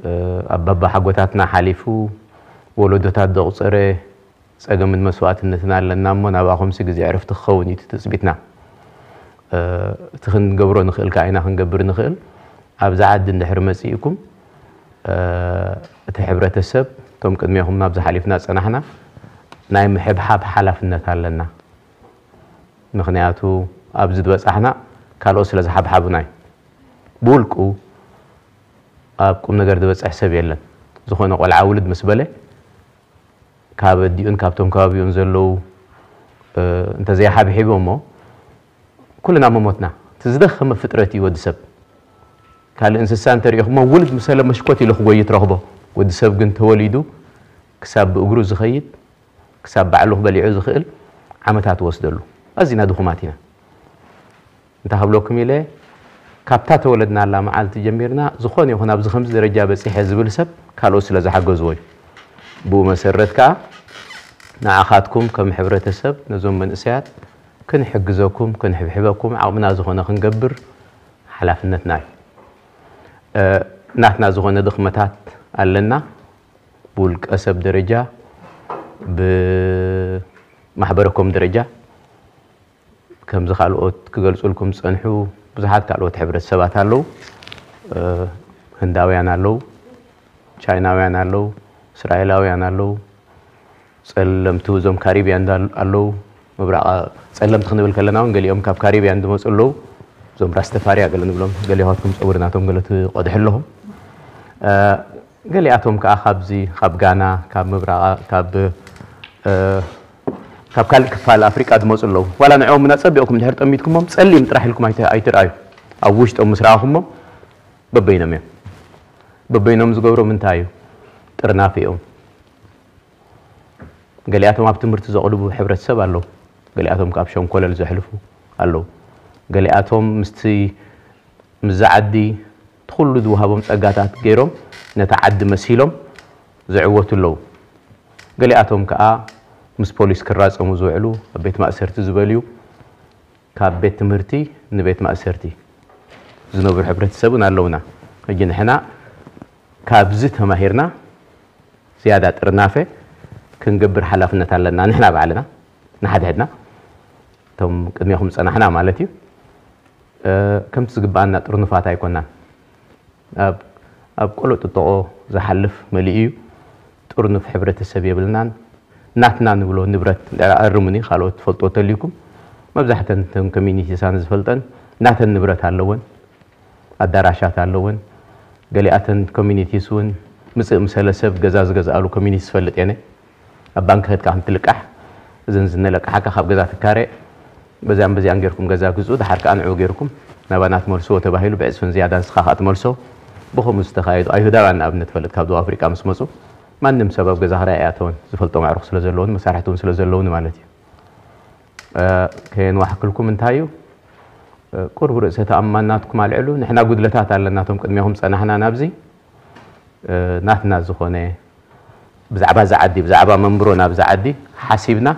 እ፣ ኣባባ ሓጎታትና ሓሊፉ ወለዶታት ዘቑጸረ ጸገምን መስዋእትነትን ኣለና እሞ ናብኣኹምሲ ግዜ ዕረፍቲ ክኸውን እዩ እቲ ትጽቢትና። እ፣ እቲ ክንገብሮ ንኽእል ከኣ ኢና ክንገብር ንኽእል። ኣብዛ ዓዲ እንድሕር መጺእኩም እ፣ እቲ ሕብረተሰብ እቶም ቅድሜኹም ናብዚ ሓሊፍና ዝጸናሕና ናይ ምሕብሓብ ሓላፍነት ኣለና። ምኽንያቱ ኣብዚ ዝበጻሕና ካልኦት ስለ ዝሓብሓቡና እዩ። ብውልቁ ኣብ ቁም ነገር ዝበጽሕ ሰብ የለን። ዝኾነ ቆልዓ ውልድ ምስ በለ ካብ ኣዲኡን ካብቶም ከባቢኡን ዘለዉ እ፣ እንተዘይሓብሒቦሞ ኩልና ምሞትና። እቲ ዝደኸመ ፍጥረት እዩ ወዲ ሰብ። ካልእ እንስሳ እንተሪኢኹሞ ውልድ ምሰለ መሽኮት ኢሉ ክጎይ ትረኽቦ። ወዲ ሰብ ግን ተወሊዱ ክሳብ ብእግሩ ዝኸይድ ክሳብ ባዕሉ ክበሊዑ ዝኽእል ዓመታት ወስደሉ። ኣዚና ድኹማት ኢና። እንታይ ክብለኩም ኢለ፣ ካብታ ተወለድናላ መዓልቲ ጀሚርና ዝኾነ ይኹን ኣብዚ ከምዚ ደረጃ በጺሐ ዝብል ሰብ ካልኦት ስለ ዝሓገዝዎ እዩ። ብኡ መሰረት ከኣ ንዓኻትኩም ከም ሕብረተሰብ ነዞም መንእሰያት ክንሕግዘኩም ክንሕብሕበኩም ዓቕምና ዝኾነ ክንገብር ሓላፍነትና እዩ። ናትና ዝኾነ ድኽመታት ኣለና። ብውልቀ ሰብ ደረጃ ብማሕበረኮም ደረጃ ከምዚ ካልኦት ክገልጹልኩም ዝጸንሑ ብዙሓት ካልኦት ሕብረተሰባት ኣለዉ። ህንዳውያን ኣለዉ፣ ቻይናውያን ኣለዉ፣ እስራኤላውያን ኣለዉ፣ ጸለምቲ እዞም ካሪብያን ኣለዉ። ምብራቕ ጸለምቲ ክንብል ከለና እውን ገሊኦም ካብ ካሪብያን ዝመጹ ኣለዉ። እዞም ራስተፋርያ ገለ ንብሎም ገሊኦትኩም ጸጉሪ ናቶም ገለ ትቐድሑ ኣለኹም። ገሊኣቶም ከዓ ካብዚ ካብ ጋና ካብ ምብራቕ ካብ ካብ ካልእ ክፋል ኣፍሪቃ ዝመፁ ኣለዉ። ዋላ ንዕኦም እና ፀቢቕኩም ድሕር ጠሚትኩሞም ፀሊም ጥራሕ ኢልኩም ኣይትርኣዩ። ኣብ ውሽጦም ምስ ረኣኹሞም በበይኖም እዮም። በበይኖም ዝገብሮም እንታይ እዩ? ጥርናፍ እዮም። ገሊኣቶም ኣብ ትምህርቲ ዘቕልቡ ሕብረተሰብ ኣለዉ። ገሊኣቶም ካብ ሸንኮለል ዘሕልፉ ኣለዉ። ገሊኣቶም ምስቲ ምስዛ ዓዲ እቲ ኩሉ ዝወሃቦም ጸጋታት ገይሮም ነታ ዓዲ መሲሎም ዝዕወቱ ኣለዉ። ገሊኣቶም ከኣ ምስ ፖሊስ ክራጸሙ ዝውዕሉ፣ ኣብ ቤት ማእሰርቲ ዝበልዩ፣ ካብ ቤት ትምህርቲ ንቤት ማእሰርቲ ዝነብሩ ሕብረተሰብን ኣለውና። ሕጂ ንሕና ካብዚ ተማሂርና ዝያዳ ጥርናፈ ክንገብር ሓላፍነት ኣለና። ንሕና ባዕልና ንሓድሕድና እቶም ቅድሜኹም ዝጸናሕና ማለት እዩ። ከምቲ ዝግባኣና ጥርኑፋት ኣይኮናን። ኣብ ኣብ ቆሎ ጥጥቆ ዝሓልፍ መሊኡ እዩ። ጥርኑፍ ሕብረተሰብ የብልናን። ናትና ንብሎ ንብረት፣ ኣርሙኒ ካልኦት ትፈልጥዎ ተልዩኩም፣ መብዛሕተን እተን ኮሚኒቲሳን ዝፈልጠን ናተን ንብረት ኣለወን፣ ኣዳራሻት ኣለወን። ገሊኣተን ኮሚኒቲስ እውን ምፅእ ምሰለ ሰብ ገዛ ዝገዝኣሉ ኮሚኒቲ ዝፈልጥ የነ። ኣብ ባንክ ከድካ ከም ትልቃሕ፣ እዘን ዝነለቃሓካ ካብ ገዛ ትካረ፣ በዚኣን በዚኣን ጌርኩም ገዛ ግዝኡ፣ ድሓር ከኣ ንዕኡ ጌርኩም ናባና ትመልስዎ ተባሂሉ፣ ብዕፅፍን ዝያዳን ንስኻ ከኣ ትመልሶ። ብኸምኡ ዝተኻየዱ ኣይሁዳውያን ንኣብነት ፈልጥ ካብ ደቡብ ኣፍሪቃ ምስ መፁ፣ ማንም ሰብ ኣብ ገዛ ክራይ ኣይኣተወን፣ ዝፈልጦም ኣዕሩኽ ስለ ዘለውን መሳርሕቲ እውን ስለ ዘለውን ማለት እዩ። ከየንዋሕክልኩም እንታይ እዩ፣ ቁርብ ርእሰ ተኣማንነትኩም ኣልዕሉ። ንሕና ጉድለታት ኣለና፣ እቶም ቅድሜኹም ጸናሕና ናብዚ ናትና ዝኾነ ብዛዕባ እዚ ዓዲ፣ ብዛዕባ መንብሮ ናብዚ ዓዲ ሓሲብና፣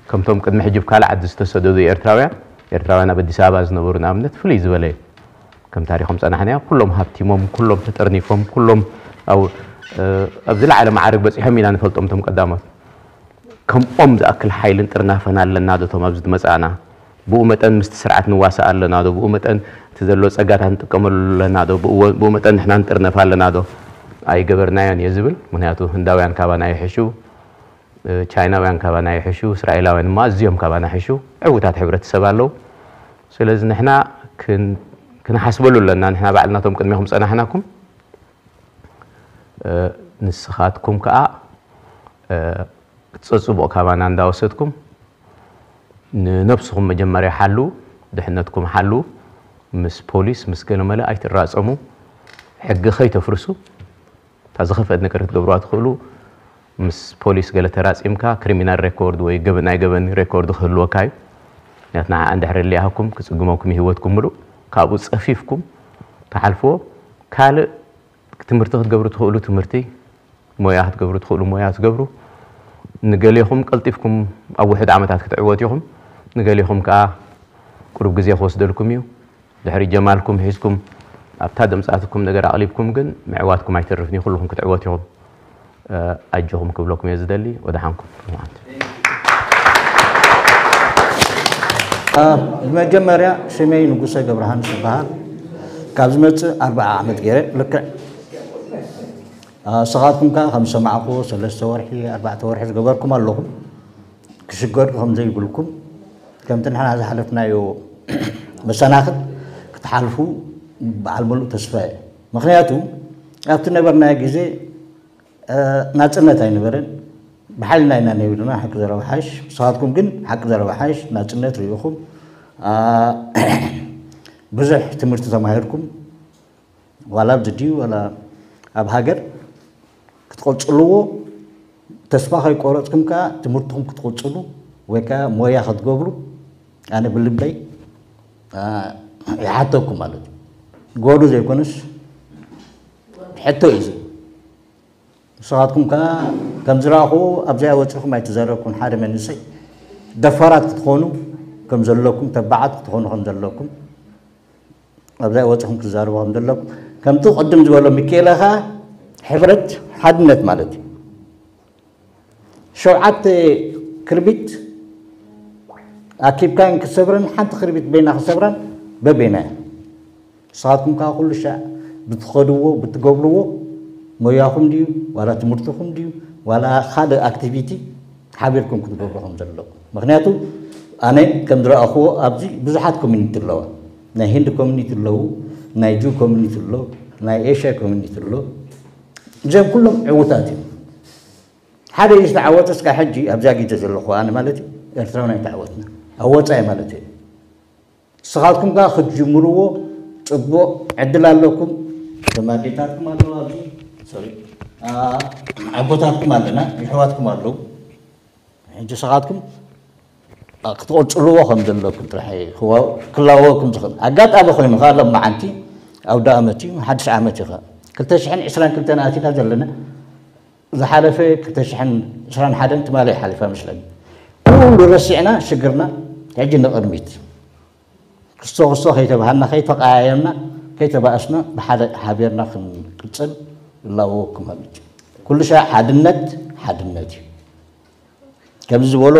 ከምቶም ቅድሚ ሕጂ ብካልእ ዓዲ ዝተሰደዱ ኤርትራውያን፣ ኤርትራውያን ኣብ ኣዲስ ኣበባ ዝነበሩ ንኣብነት ፍልይ ዝበለ እዩ። ከም ታሪኾም ጸናሕናዮ፣ ኩሎም ሃብቲሞም፣ ኩሎም ተጠርኒፎም፣ ኩሎም ኣብ ኣብ ዝለዓለ መዓርግ በጺሖም ኢና ንፈልጦም እቶም ቀዳሞት። ከምኦም ዝኣክል ሓይልን ጥርናፈን ኣለና ዶ እቶም ኣብዚ ዝመጻእና? ብኡ መጠን ምስቲ ስርዓት ንዋሳእ ኣለና ዶ? ብኡ መጠን እቲ ዘሎ ጸጋታት ንጥቀመሉ ኣለና ዶ? ብኡ ብኡ መጠን ንሕና ንጥርነፍ ኣለና ዶ? ኣይገበርናዮን እየ ዝብል። ምኽንያቱ ህንዳውያን ካባና ይሕሹ፣ ቻይናውያን ካባና ይሕሹ፣ እስራኤላውያን እማ ኣዝዮም ካባና ይሕሹ። ዕዉታት ሕብረተሰብ ኣለዉ። ስለዚ ንሕና ክን- ክንሓስበሉ ኣለና። ንሕና ባዕልና እቶም ቅድሜኹም ጸናሕናኩም፣ ንስኻትኩም ከኣ ክትጸጽብቑ ካባና እንዳወሰድኩም ንነብስኹም መጀመርያ ሓልዉ፣ ድሕነትኩም ሓልዉ። ምስ ፖሊስ ምስ ገለመለ ኣይትራጸሙ፣ ሕጊ ከይተፍርሱ። እታ ዝኸፍአት ነገር ክትገብሩዋ ትኽእሉ፣ ምስ ፖሊስ ገለ ተራጺምካ ክሪሚናል ሬኮርድ ወይ ገበ- ናይ ገበን ሬኮርድ ክህልወካ እዩ። ምክንያቱ ንዓ እንድሕር ሊኣሃኩም ክጽግመኩም ህይወትኩም ምሉእ ካብኡ ጸፊፍኩም ትሓልፍዎ። ካልእ ትምህርቲ ክትገብሩ ትኽእሉ ትምህርቲ፣ ሞያ ክትገብሩ ትኽእሉ ሞያ ትገብሩ። ንገሌኹም ቀልጢፍኩም ኣብ ውሑድ ዓመታት ክትዕወት ኢኹም፣ ንገሌኹም ከኣ ቁሩብ ግዜ ክወስደልኩም እዩ። ድሕሪ ጀማልኩም ሒዝኩም ኣብታ ደምጻትኩም ነገር ኣቕሊብኩም ግን ምዕዋትኩም ኣይተርፍን እዩ፣ ኩልኹም ክትዕወት ኢኹም። ኣጆኹም ክብለኩም እየ ዝደሊ። ወደሓንኩም። ብመጀመርያ ሽመይ ንጉሰ ገብረሃንስ ይበሃል። ካብ ዝመጽእ ኣርብዓ ዓመት ገይረ ልክዕ ንስኻትኩም ከኣ ከም ዝሰማዕኩዎ ሰለስተ ወርሒ ኣርባዕተ ወርሒ ዝገበርኩም ኣለኹም። ክሽገር ከም ዘይብልኩም፣ ከምቲ ንሕና ዝሓለፍናዮ መሰናኽል ክትሓልፉ በዓል ምሉእ ተስፋ እየ። ምኽንያቱ ኣብቲ ነበርናዮ ግዜ ናጽነት ኣይነበረን። ብሓይልና ኢና ነቢርና ሓቂ ዘረባ ሓሽ። ንስኻትኩም ግን ሓቂ ዘረባ ሓሽ ናጽነት ርኢኹም፣ ብዙሕ ትምህርቲ ተማሂርኩም፣ ዋላ ኣብዚ ድዩ ዋላ ኣብ ሃገር ክትቕጽልዎ ተስፋ ከይቆረጽኩም ከኣ ትምህርትኹም ክትቕጽሉ ወይ ከኣ ሞያ ክትገብሩ ኣነ ብልበይ ይሓተኩም ማለት እዩ። ጎዱ ዘይኮነስ ሕቶ እዩ። ንስኻትኩም ከኣ ከም ዝረኣኹ ኣብዚኣ ወጺኹም ኣይተዛረብኩም። ሓደ መንእሰይ ደፋራት ክትኾኑ ከም ዘለኩም፣ ተባዓት ክትኾኑ ከም ዘለኩም ኣብዛ ወፅኹም ክትዛረቡ ከም ዘለኩም ከምቲ ቅድም ዝበሎ ሚካኤል ኸዓ ሕብረት ሓድነት ማለት እዩ። ሸውዓተ ክርቢት ኣኪብካን ክትሰብረን ሓንቲ ክርቢት በይና ክትሰብራን በበይና እያ። ንስኻትኩም ከዓ ኩሉ ሻዕ ብትኸድዎ ብትገብርዎ ሞያኹም ድዩ ዋላ ትምህርትኹም ድዩ ዋላ ካልእ ኣክቲቪቲ ሓቢርኩም ክትገብሩ ከም ዘለኩም። ምክንያቱ ኣነ ከም ዝረኣኽዎ ኣብዚ ብዙሓት ኮሚኒቲ ኣለዋ። ናይ ሂንዲ ኮሚኒቲ ኣለዉ፣ ናይ ጁ ኮሚኒቲ ኣሎ፣ ናይ ኤሽያ ኮሚኒቲ ኣሎ። እዚኦም ኩሎም ዕዉታት እዮም። ሓደ እዩ ዝተዓወተ እስካ ሕጂ ኣብዛ ግዜ ዘለኹ ኣነ ማለት እዩ ኤርትራውን ኣይተዓወትና ኣብ ወፃኢ ማለት እዩ። ንስኻትኩም ከኣ ክትጅምርዎ ጽቡቕ ዕድል ኣለኩም። ተማዴታትኩም ኣለዉ ኣብዚ ሶሪ ኣቦታትኩም ኣለና ይሕዋትኩም ኣለዉ። ሕጂ ንስኻትኩም ክትቕጽልዎ ከም ዘለኩም ጥራሕ ክላወኩም ዝኽእል ኣጋጣሚ ኮይኑ ከኣ ሎም መዓንቲ ኣውደ ኣመት እዩ ሓድሽ ዓመት እዩ ከኣ ክልተ ሽሕን ዕስራን ክልተን ኣቲና ዘለና ዝሓለፈ ክልተ ሽሕን ዕስራን ሓደን ትማሊ ሓሊፋ መስለኒ ኩሉ ረሲዕና ሽግርና ሕጂ ንቕድሚት ክስቶ ክስቶ ከይተባሃልና፣ ከይተቀያየምና፣ ከይተባእስና ብሓደ ሓቢርና ክንቅጽል እላዎ ክመልጭ። ኩሉ ሻዕ ሓድነት ሓድነት እዩ። ከምዚ ዝበሎ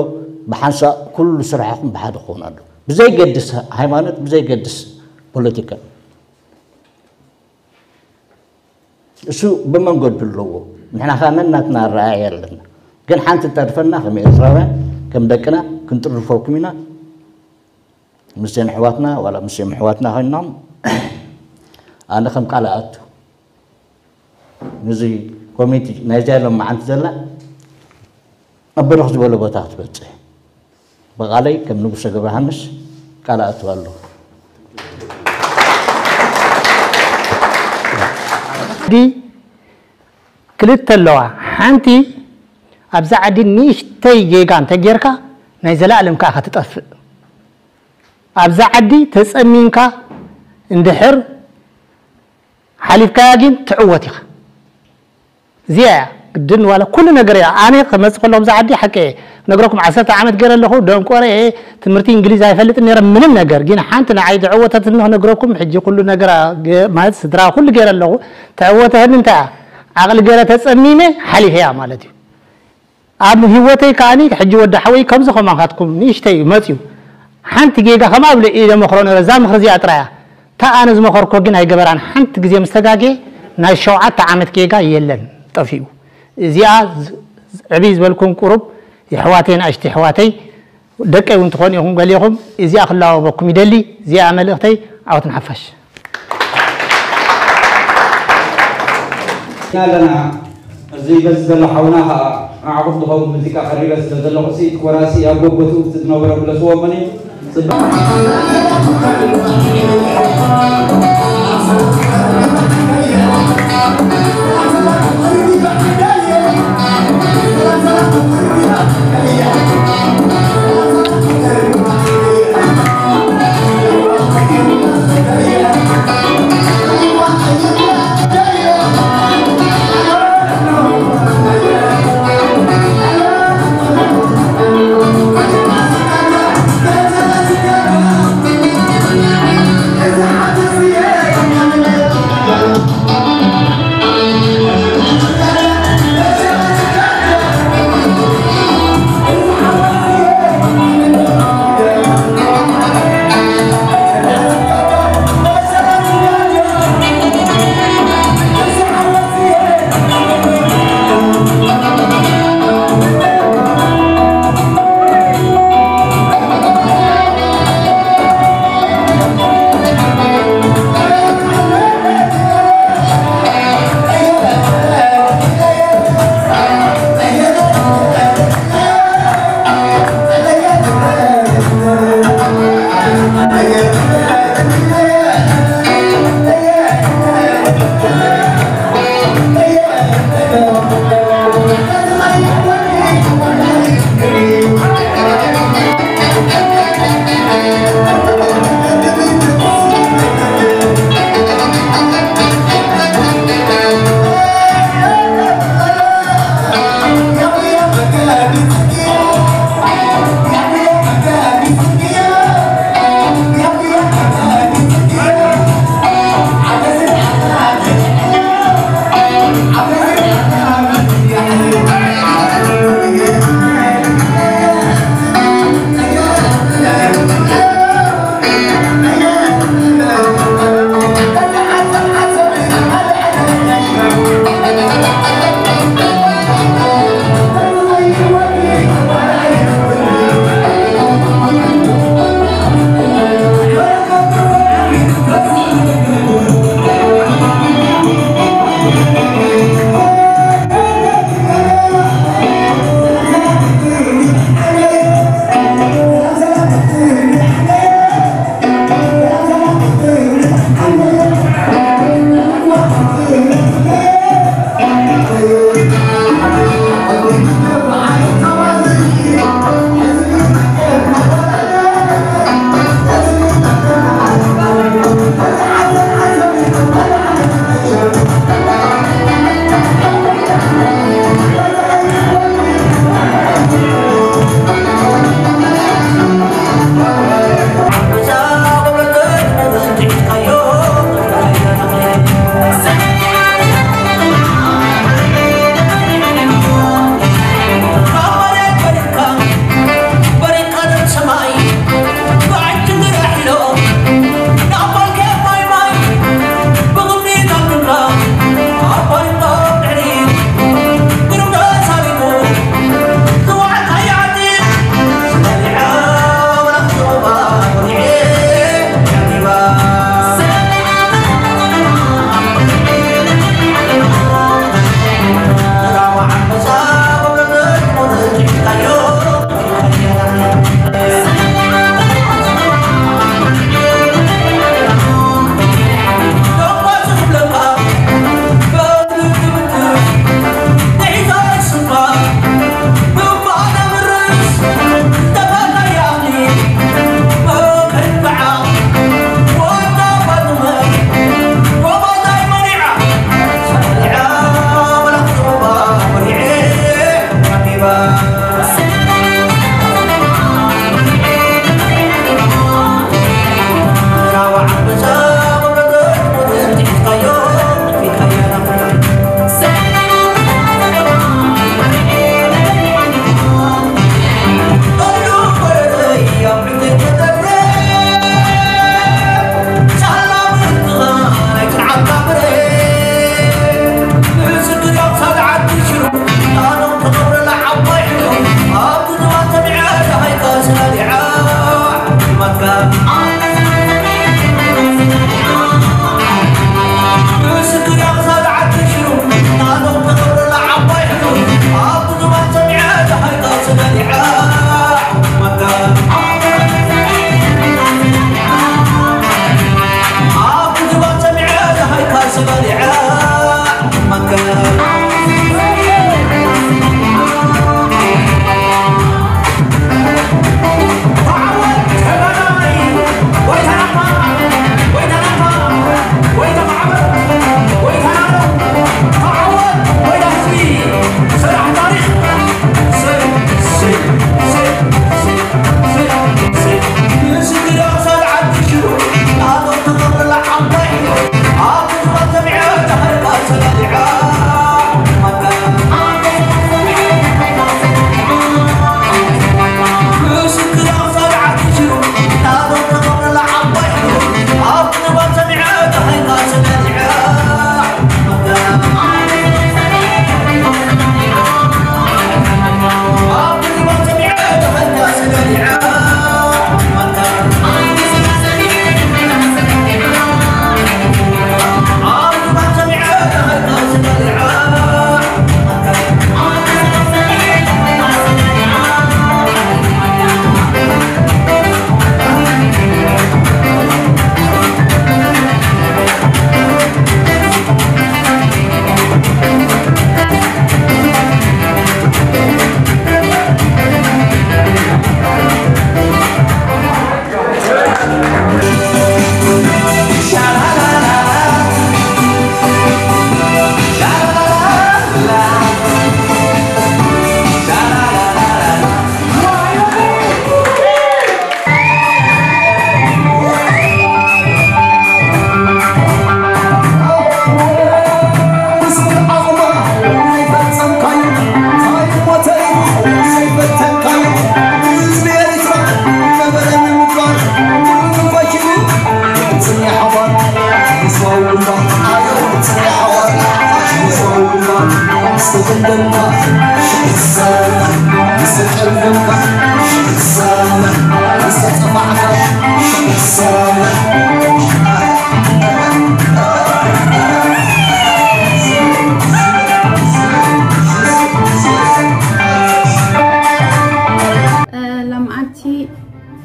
ብሓንሳእ ኩሉ ስራሕኹም ብሓደ ክኸውን ኣሎ። ብዘይገድስ ሃይማኖት፣ ብዘይገድስ ፖለቲካ። እሱ ብመንገዱ ኣለዎ። ንሕና ኸኣ ነናትና ኣረኣእያ ኣለና። ግን ሓንቲ ተርፈና ከም ኤርትራውያን፣ ከም ደቅና ክንጥርፈኩም ኢና። ምስዘን ኣሕዋትና፣ ዋላ ምስዘን ኣሕዋትና ኮይኖም፣ ኣነ ከም ቃል ኣኣቱ። ነዚ ኮሚቴ ናይዚኣ ሎም መዓንቲ ዘላ ኣብ በርኽ ዝበለ ቦታ ክትበጽሕ። ብቓለይ ከም ንጉሰ ገብረሃንስ ቃል ኣእትዋ ኣለኹ። ዓዲ ክልተ ኣለዋ። ሓንቲ ኣብዛ ዓዲ ንእሽተይ ጌጋ እንተጌርካ ናይ ዘላለም ከኣ ክትጠፍእ። ኣብዛ ዓዲ ተጸሚምካ እንድሕር ሓሊፍካያ ግን ትዕወት ኢኻ። እዚኣ እያ ግድን ዋላ ኩሉ ነገር እያ። ኣነ ክመጽእ ከለኹ ኣብዛ ዓዲ ሓቂ እየ ክነግረኩም ዓሰርተ ዓመት ገይረ ኣለኹ። ደንቆረ እየ። ትምህርቲ እንግሊዝ ኣይፈልጥን ነይረ ምንም ነገር። ግን ሓንቲ ንዓይ ዘዕወተትኒ ክነግረኩም ሕጂ ኩሉ ነገር አ- ገ- ማለት ስድራ ኩሉ ገይረ ኣለኹ። ተዕወተትኒ እንታይ እያ? ዓቕሊ ገይረ ተጸሚመ ሓሊፈያ ማለት እዩ። ኣብ ህይወተይ ከኣኒ ሕጂ ወዲ ሓወይ ከምዚ ከማኻትኩም ንእሽተይ እዩ መጽዩ። ሓንቲ ጌጋ ከም ኣብ ኢለ መኽሮ ነረ እዛ ምኽሪ እዚኣ ጥራያ። እታ ኣነ ዝመኸርኮ ግን ኣይገበራን። ሓንቲ ግዜ ምስ ተጋጌ ናይ ሸውዓተ ዓመት ጌጋ የለን ጠፊኡ። እዚኣ ዕብይ ዝበልኩም ቁሩብ የሕዋተይ ንኣሽቲ የሕዋተይ ደቀይ እውን ትኾኑ ኢኹም ገሊኹም እዚኣ ክላወበኩም ይደሊ። እዚኣ መልእኽተይ ዓወት ንሓፋሽ። ኣለና እዚ በዚ ዘሎ ሓውና ከዓ ንዓኹም ዝኸውን ሙዚቃ ቀሪበ ስለ ዘለኹ ሲ ኮራሲ ኣብ ጎጎትኡ እቲ ዝነበረ ክለስዎ መን እዩ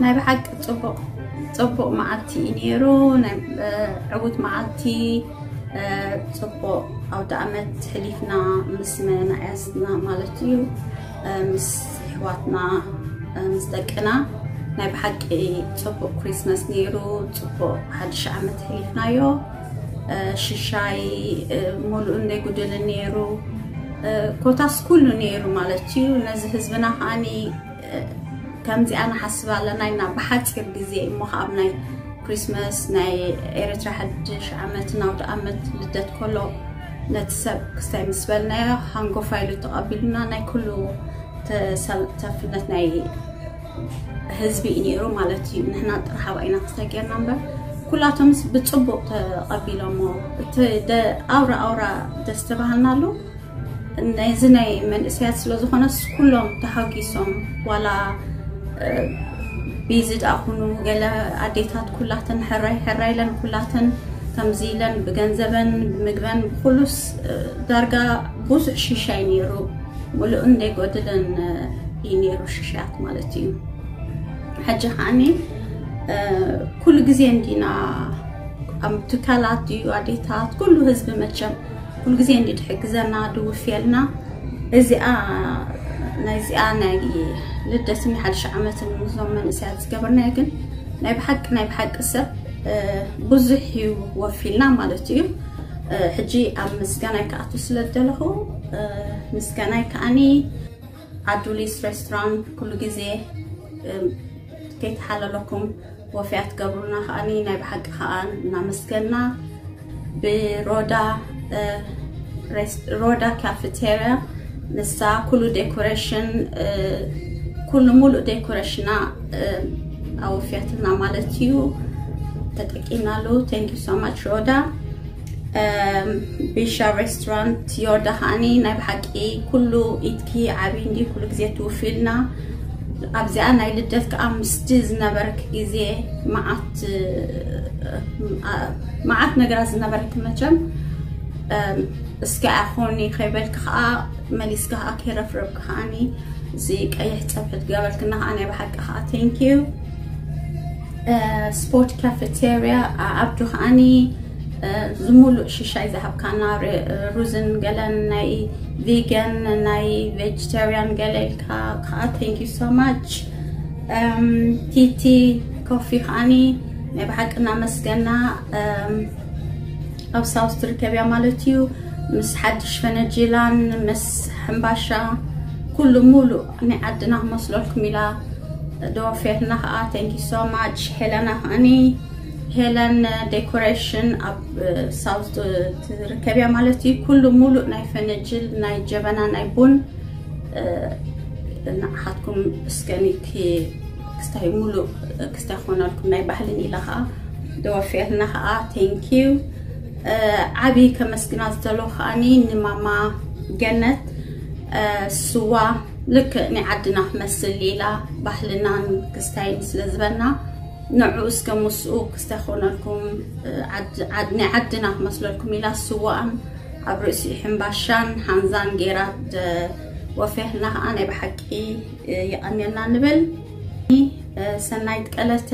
ናይ ብሓቂ ጽቡቕ ጽቡቕ መዓልቲ እዩ ነይሩ። ናይ ዕውት መዓልቲ፣ ጽቡቕ ኣውደ ኣመት ሕሊፍና ምስ መናእያስና ማለት እዩ፣ ምስ ኣሕዋትና፣ ምስ ደቅና። ናይ ብሓቂ ጽቡቕ ክሪስመስ ነይሩ። ጽቡቕ ሓድሽ ዓመት ሕሊፍናዮ። ሽሻይ፣ ሙሉእ እንደይ ጉድልን ነይሩ። ኮታስ ኩሉ ነይሩ ማለት እዩ። ነዚ ህዝብና ከዓኒ ከምዚኣ ንሓስብ ኣለና ኢና ብሓፂር ግዜ እሞ ከኣብ ናይ ክሪስመስ ናይ ኤርትራ ሓድሽ ዓመት ናውዲ ዓመት ልደት ከሎ ነቲ ሰብ ክስታይ ምስ በልናዮ ሃንጎፋ ኢሉ ተቐቢሉና ናይ ኩሉ ተሳታፍነት ናይ ህዝቢ እዩ ነይሩ ማለት እዩ። ንሕና ጥራሕ ኣብኣ ኢና ክስታይ ጌርና እምበር ኩላቶምስ ብፅቡቕ ተቐቢሎሞ። እቲ ኣውራ ኣውራ ደስ ተባሃልናሉ። ነዚ ናይ መንእሰያት ስለ ዝኾነስ ኩሎም ተሓጒሶም ዋላ ቢዚ ደኣ ኩኑ ገለ ኣዴታት ኩላተን ሕራይ ሕራይ ኢለን ኩላተን ከምዚ ኢለን ብገንዘበን ብምግበን ብኩሉስ ዳርጋ ብዙሕ ሽሻይ ነይሩ። ሙሉእ እንደይጎድልን እዩ ነይሩ ሽሻያት ማለት እዩ። ሕጂ ከዓኒ ኩሉ ግዜ እንዲና ኣብ ትካላት እዩ ኣዴታት ኩሉ ህዝቢ መቸም ኩሉ ግዜ እንዲ ትሕግዘና ድውፍየልና። እዚኣ ናይዚኣ ናይ ልደትን ሓድሽ ዓመትን ምስዞም መንእሰያት ዝገበርናዮ ግን ናይ ብሓቂ ናይ ብሓቂ ሰብ ብዙሕ እዩ ወፊልና ማለት እዩ። ሕጂ ኣብ ምስጋናይ ክኣቱ ስለ ዝደለኹ ምስጋናይ ከዓኒ ኣዱሊስ ሬስቶራንት ኩሉ ግዜ ከይተሓለለኩም ወፍያት ገብሩና ከዓኒ ናይ ብሓቂ ከኣ እናመስገና ብሮዳ ሮዳ ካፌቴሪያ ንሳ ኩሉ ዴኮሬሽን ኩሉ ሙሉእ ዴኮሬሽና ኣወፍያትና ማለት እዩ። ተጠቂምናሉ። Thank you so much ሮዳ። ቢሻ ሬስቶራንት ዮርዳ ከዓኒ ናይ ብሓቂ ኩሉ ኢትኪ ዓብይ እንዲ ኩሉ ግዜ ትውፊልና። ኣብዚኣ ናይ ልደት ከዓ ምስቲ ዝነበረክ ግዜ መዓት መዓት ነገራት ዝነበረክ መቸም እስኪ ኣኾኒ ከይበልክ ከዓ መሊስካ ከዓ ከይረፍረብክ ከዓኒ እዚ ቀይሕ ፀብሒ ትገበልክና ከዓ ናይ ብሓቂ ከዓ thank you። ስፖርት ካፌቴሪያ ዓብዱ ከዓኒ ዝሙሉእ ሽሻይ ዝሃብካና ሩዝን ገለን ናይ ቪገን ናይ ቬጅተሪያን ገለ ኢልካ ከዓ thank you so much። ቲቲ ኮፊ ከዓኒ ናይ ብሓቂ እናመስገና ኣብ ሳውስ ትርከብያ ማለት እዩ። ምስ ሓድሽ ፈነጅላን ምስ ሕምባሻ ኩሉ ሙሉእ ናይ ዓድና ክመስለልኩም ኢላ ደወፍየትና ከዓ thank you so much። ሄለና ከዓኒ ሄለን ዴኮሬሽን ኣብ ሳውዝ ትርከብያ ማለት እዩ። ኩሉ ሙሉእ ናይ ፈነጅል ናይ ጀበና ናይ ቡን ንዓኻትኩም እስከኒ ክስታይ ሙሉእ ክስታይ ክኾነልኩም ናይ ባህልን ኢላ ከዓ ደወፍየልና ከዓ thank you። ዓብዪ ከመስግና ዝደለኹ ከዓኒ ንማማ ገነት ስዋ ልክዕ ናይ ዓድና ክመስል ኢላ ባህልናን ክስታይን ስለ ዝበና ንዑ እስከ ምስኡ ክስታይ ክኾነልኩም ናይ ዓድና ክመስለልኩም ኢላ ስዋኣን ኣብ ርእሲኡ ሕምባሻን ሓንዛን ገይራ ወፍያትና ከዓ ናይ ብሓቂ ይቐንየልና ንብል። ሰናይት ቀለተ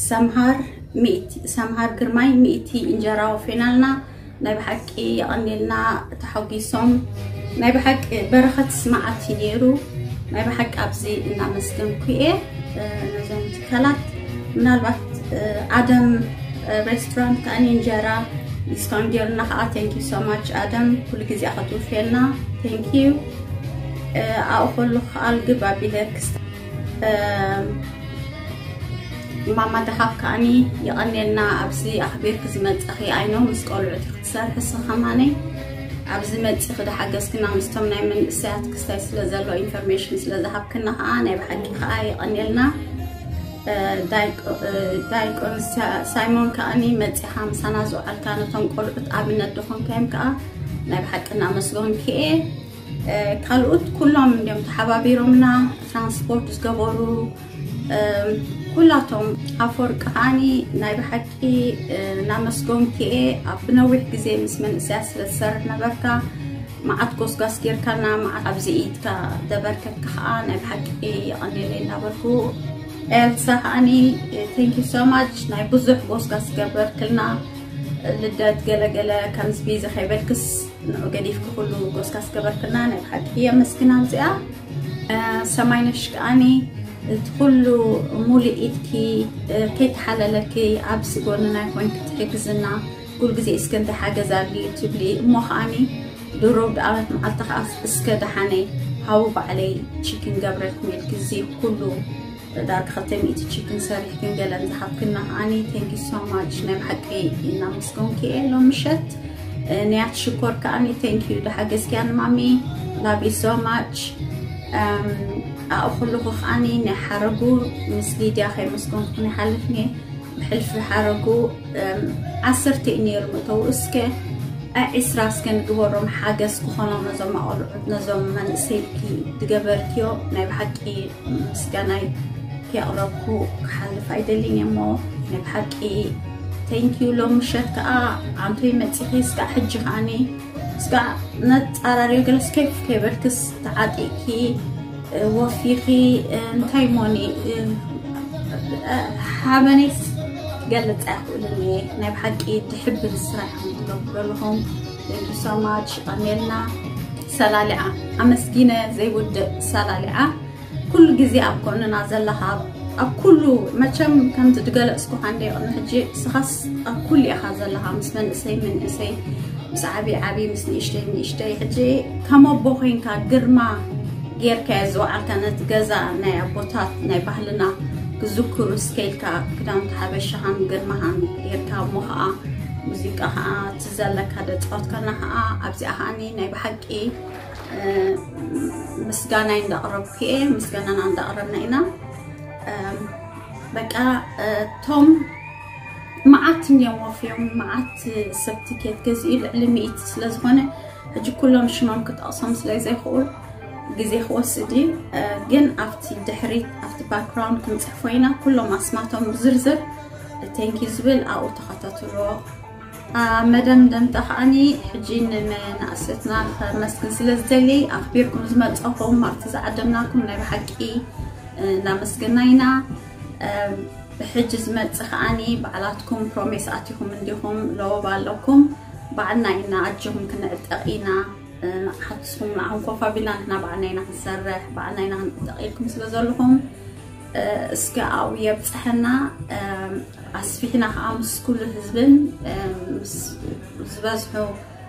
ሰምሃር ሚእቲ ሰምሃር ግርማይ ሚእቲ እንጀራ ወፌናልና ናይ ብሓቂ የቐንየልና። ተሓጒሶም ናይ ብሓቂ በረኸት ስማዓት እዩ ነይሩ። ናይ ብሓቂ ኣብዚ እናመስገንኩ እየ ነዞም ትካላት። ምናልባት ኣደም ሬስቶራንት ከዓኒ እንጀራ ዲስካውንት ገይሩና ከዓ thank you so much ኣደም ኩሉ ግዜ ክትውፍየልና thank you። ኣብኡ ከሉ ከዓ ልግብ ኣቢለ ክስተ ማማ ደሃብ ከዓኒ የቐንየልና ኣብዚ ኣኽቢርኪ ዝመፀኺ ኣይኖ ምስ ቆልዑት ክትሰርሒ ስኸማነይ ኣብዚ መፂኺ ዝሓገዝክና ምስቶም ናይ መንእሰያት ክስታይ ስለ ዘሎ ኢንፎርሜሽን ስለ ዝሃብክና ከዓ ናይ ብሓቂ ከዓ የቐንየልና። ዳይቆን ሳይሞን ከዓኒ መፂኻ ምሳና ዝውዓልካ ነቶም ቆልዑት ኣብነት ዝኾንካዮም ከዓ ናይ ብሓቂ እናመስገንኪ እየ። ካልኦት ኩሎም እንዲዮም ተሓባቢሮምና ትራንስፖርት ዝገበሩ ኩላቶም ኣፈወርቂ ከዓኒ ናይ ብሓቂ እናመስገንኪ እየ። ኣብ ብነዊሕ ግዜ ምስ መንእሰያት ስለ ዝሰርሕ ነበርካ መዓት ጎስጋስ ጌርካና፣ መዓት ኣብዚ ኢድካ ደበርከትካ ከዓ ናይ ብሓቂ የቐንየለይ እናበልኩ፣ ኤልሳ ከዓኒ thank you so much፣ ናይ ብዙሕ ጎስጋስ ገበርክልና። ልደት ገለገለ ከምዚ ቢዚ ከይበልክስ ንዑ ገዲፍኪ ኩሉ ጎስጋስ ገበርክልና፣ ናይ ብሓቂ የመስግና። ኣብዚኣ ሰማይነሽ ከዓኒ እቲ ኩሉ ሙሉእ ኢድኪ ከይተሓለለኪ ኣብዚ ጎንና ኮይንኪ ትሕግዝና፣ ኩሉ ግዜ እስከ እንታይ ሓገዝ ኣድልዩ ትብሊ እሞ ከዓኒ ድሮ ብዓመት መዓልቲ ከዓ እስከ ደሓነይ ሃቡ ባዕለይ ቺክን ገብረልኩም ኢልኪ እዚ ኩሉ ዳርጋ ክልተ ሚእቲ ቺክን ሰሪሕክን ገለን ዝሃብክና ከዓኒ thank you so much፣ ናይ ብሓቂ እናመስገንኪ እየ ሎም ምሸት። ንያት ሽኮር ከዓኒ thank you፣ ዝሓገዝክያ ንማሚ love you so much። ኣእኹልኹ ከዓኒ ናይ ሓረጉ ምስ ሊድያ ከይመስገንኩ ይሓልፍኒ። ብሕልፊ ሓረጉ ዓሰርተ እዩ ነይሩ መእተዊ። እስከ ዒስራ እስከ ንግበሮም ሓገዝ ክኾኖም ነዞም ኣቆልዑት፣ ነዞም መንእሰይኪ ዝገበርክዮ ናይ ብሓቂ ምስጋናይ ከየቕረብኩ ክሓልፍ ኣይደልን እየ እሞ ናይ ብሓቂ thank you። ሎም ምሸት ከዓ ኣንቶይ መፂኺ እስካዕ ሕጂ ከዓኒ እስካዕ ነፃራርዮ ገለስ ከይፍ ከይበልክስ ተዓጢቕኪ ወፊኺ እንታይ ሞኒ ሓበነይስ ገልፅ ኣይክእልን እየ። ናይ ብሓቂ ድሕብል ስራሕ ትገብሩ ዘለኹም thank you so much። ቀሜልና ሰላሊዓ ኣመስጊነ ዘይውድእ ሰላሊዓ ኩሉ ግዜ ኣብ ጎንና ዘለኻ ኣብ ኩሉ መቸም ከምዚ ዝገለፅኩ ካንደ ቅድሚ ሕጂ ስኻስ ኣብ ኩሉ ኢኻ ዘለኻ ምስ መንእሰይ መንእሰይ ምስ ዓብዪ ዓብዪ ምስ ንእሽተይ ንእሽተይ ሕጂ ከም ኣቦ ኮይንካ ግርማ ጌርካ ዝወዓልካ ነቲ ገዛ ናይ ኣቦታት ናይ ባህልና ክዝክሩ እስከ ኢልካ ክዳውንቲ ሓበሻኻን ግርማኻን ጌርካ እሞ ከዓ ሙዚቃ ከዓ እቲ ዘለካ ደፃወትካና ከዓ ኣብዚኣ ከዓኒ ናይ ብሓቂ ምስጋናይ እንዳቕረብኩ እየ ምስጋናና እንዳቕረብና ኢና። በቃ እቶም መዓት እንዲዮም ወፍዮም መዓት ሰብ ትኬት ገዚኡ ልዕሊ ሚእቲ ስለዝኾነ ሕጂ ኩሎም ሽሞም ክጠቕሶም ስለዘይክእል ግዜ ክወስድ እዩ። ግን ኣብቲ ድሕሪት ኣብቲ ባክግራውንድ ክንፅሕፎ ኢና ኩሎም ኣስማቶም ብዝርዝር thank you ዝብል ኣብኡ ተኸታተልዎ። መደምደምታ ከዓኒ ሕጂ ንመናእሰትና ከመስግን ስለ ዝደሊ ኣኽቢርኩም ዝመፀኹም ኣብቲ ዝዓደምናኩም ናይ ብሓቂ እናመስገና ኢና። ብሕጂ ዝመፅእ ከዓኒ ባዕላትኩም ፕሮሜስ ኣቲኹም እንዲኹም ለወባ ኣለኩም ባዕልና ኢና ኣጆኹም ክንዕጠቕ ኢና። ሓትስኩም ንዓኹም ኮፍ ኣቢልና ንሕና ባዕልና ኢና ክንሰርሕ ባዕልና ኢና ክንዕጠቕ ኢልኩም ስለ ዘለኹም እስከ ኣብኡ የብፅሐና። ኣስፊሕና ከዓ ምስ ኩሉ ህዝብን ምስ ዝበዝሑ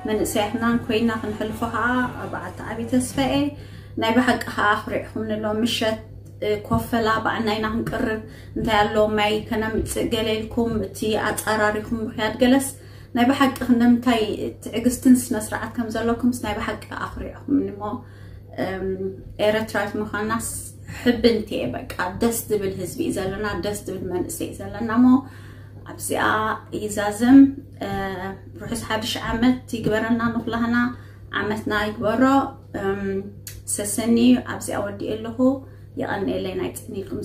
መንእሰያትናን ኮይና ክንሕልፎ ከዓ በዓልቲ ዓብዪ ተስፋ እየ። ናይ ብሓቂ ከዓ ኣኽሪዕኹም ንሎ ምሸት ኮፈላ ባዕልና ኢና ክንቅርብ እንታይ ኣሎ ማይ ከነምፅእ ገለ ኢልኩም እቲ ኣፃራሪኹም ምክያድ ገለስ ናይ ብሓቂ ክንደምታይ ትዕግስትን ስነ ስርዓት ከም ዘለኩምስ ናይ ብሓቂ ኣኽሪዕኹም እሞ ኤረትራዊት ምዃናስ ሕብንቲ እየ በቃ ደስ ዝብል ህዝቢ እዩ ዘለና ደስ ዝብል መንእሰይ እዩ ዘለና እሞ ኣብዚኣ ይዛዘም። ርሑስ ሓድሽ ዓመት ይግበረና ንኩላህና ዓመትና ይግበሮ። ሰሰኒ ኣብዚኣ ወዲእ ኣለኹ። የቐንየለይ ናይ ጽኒልኩም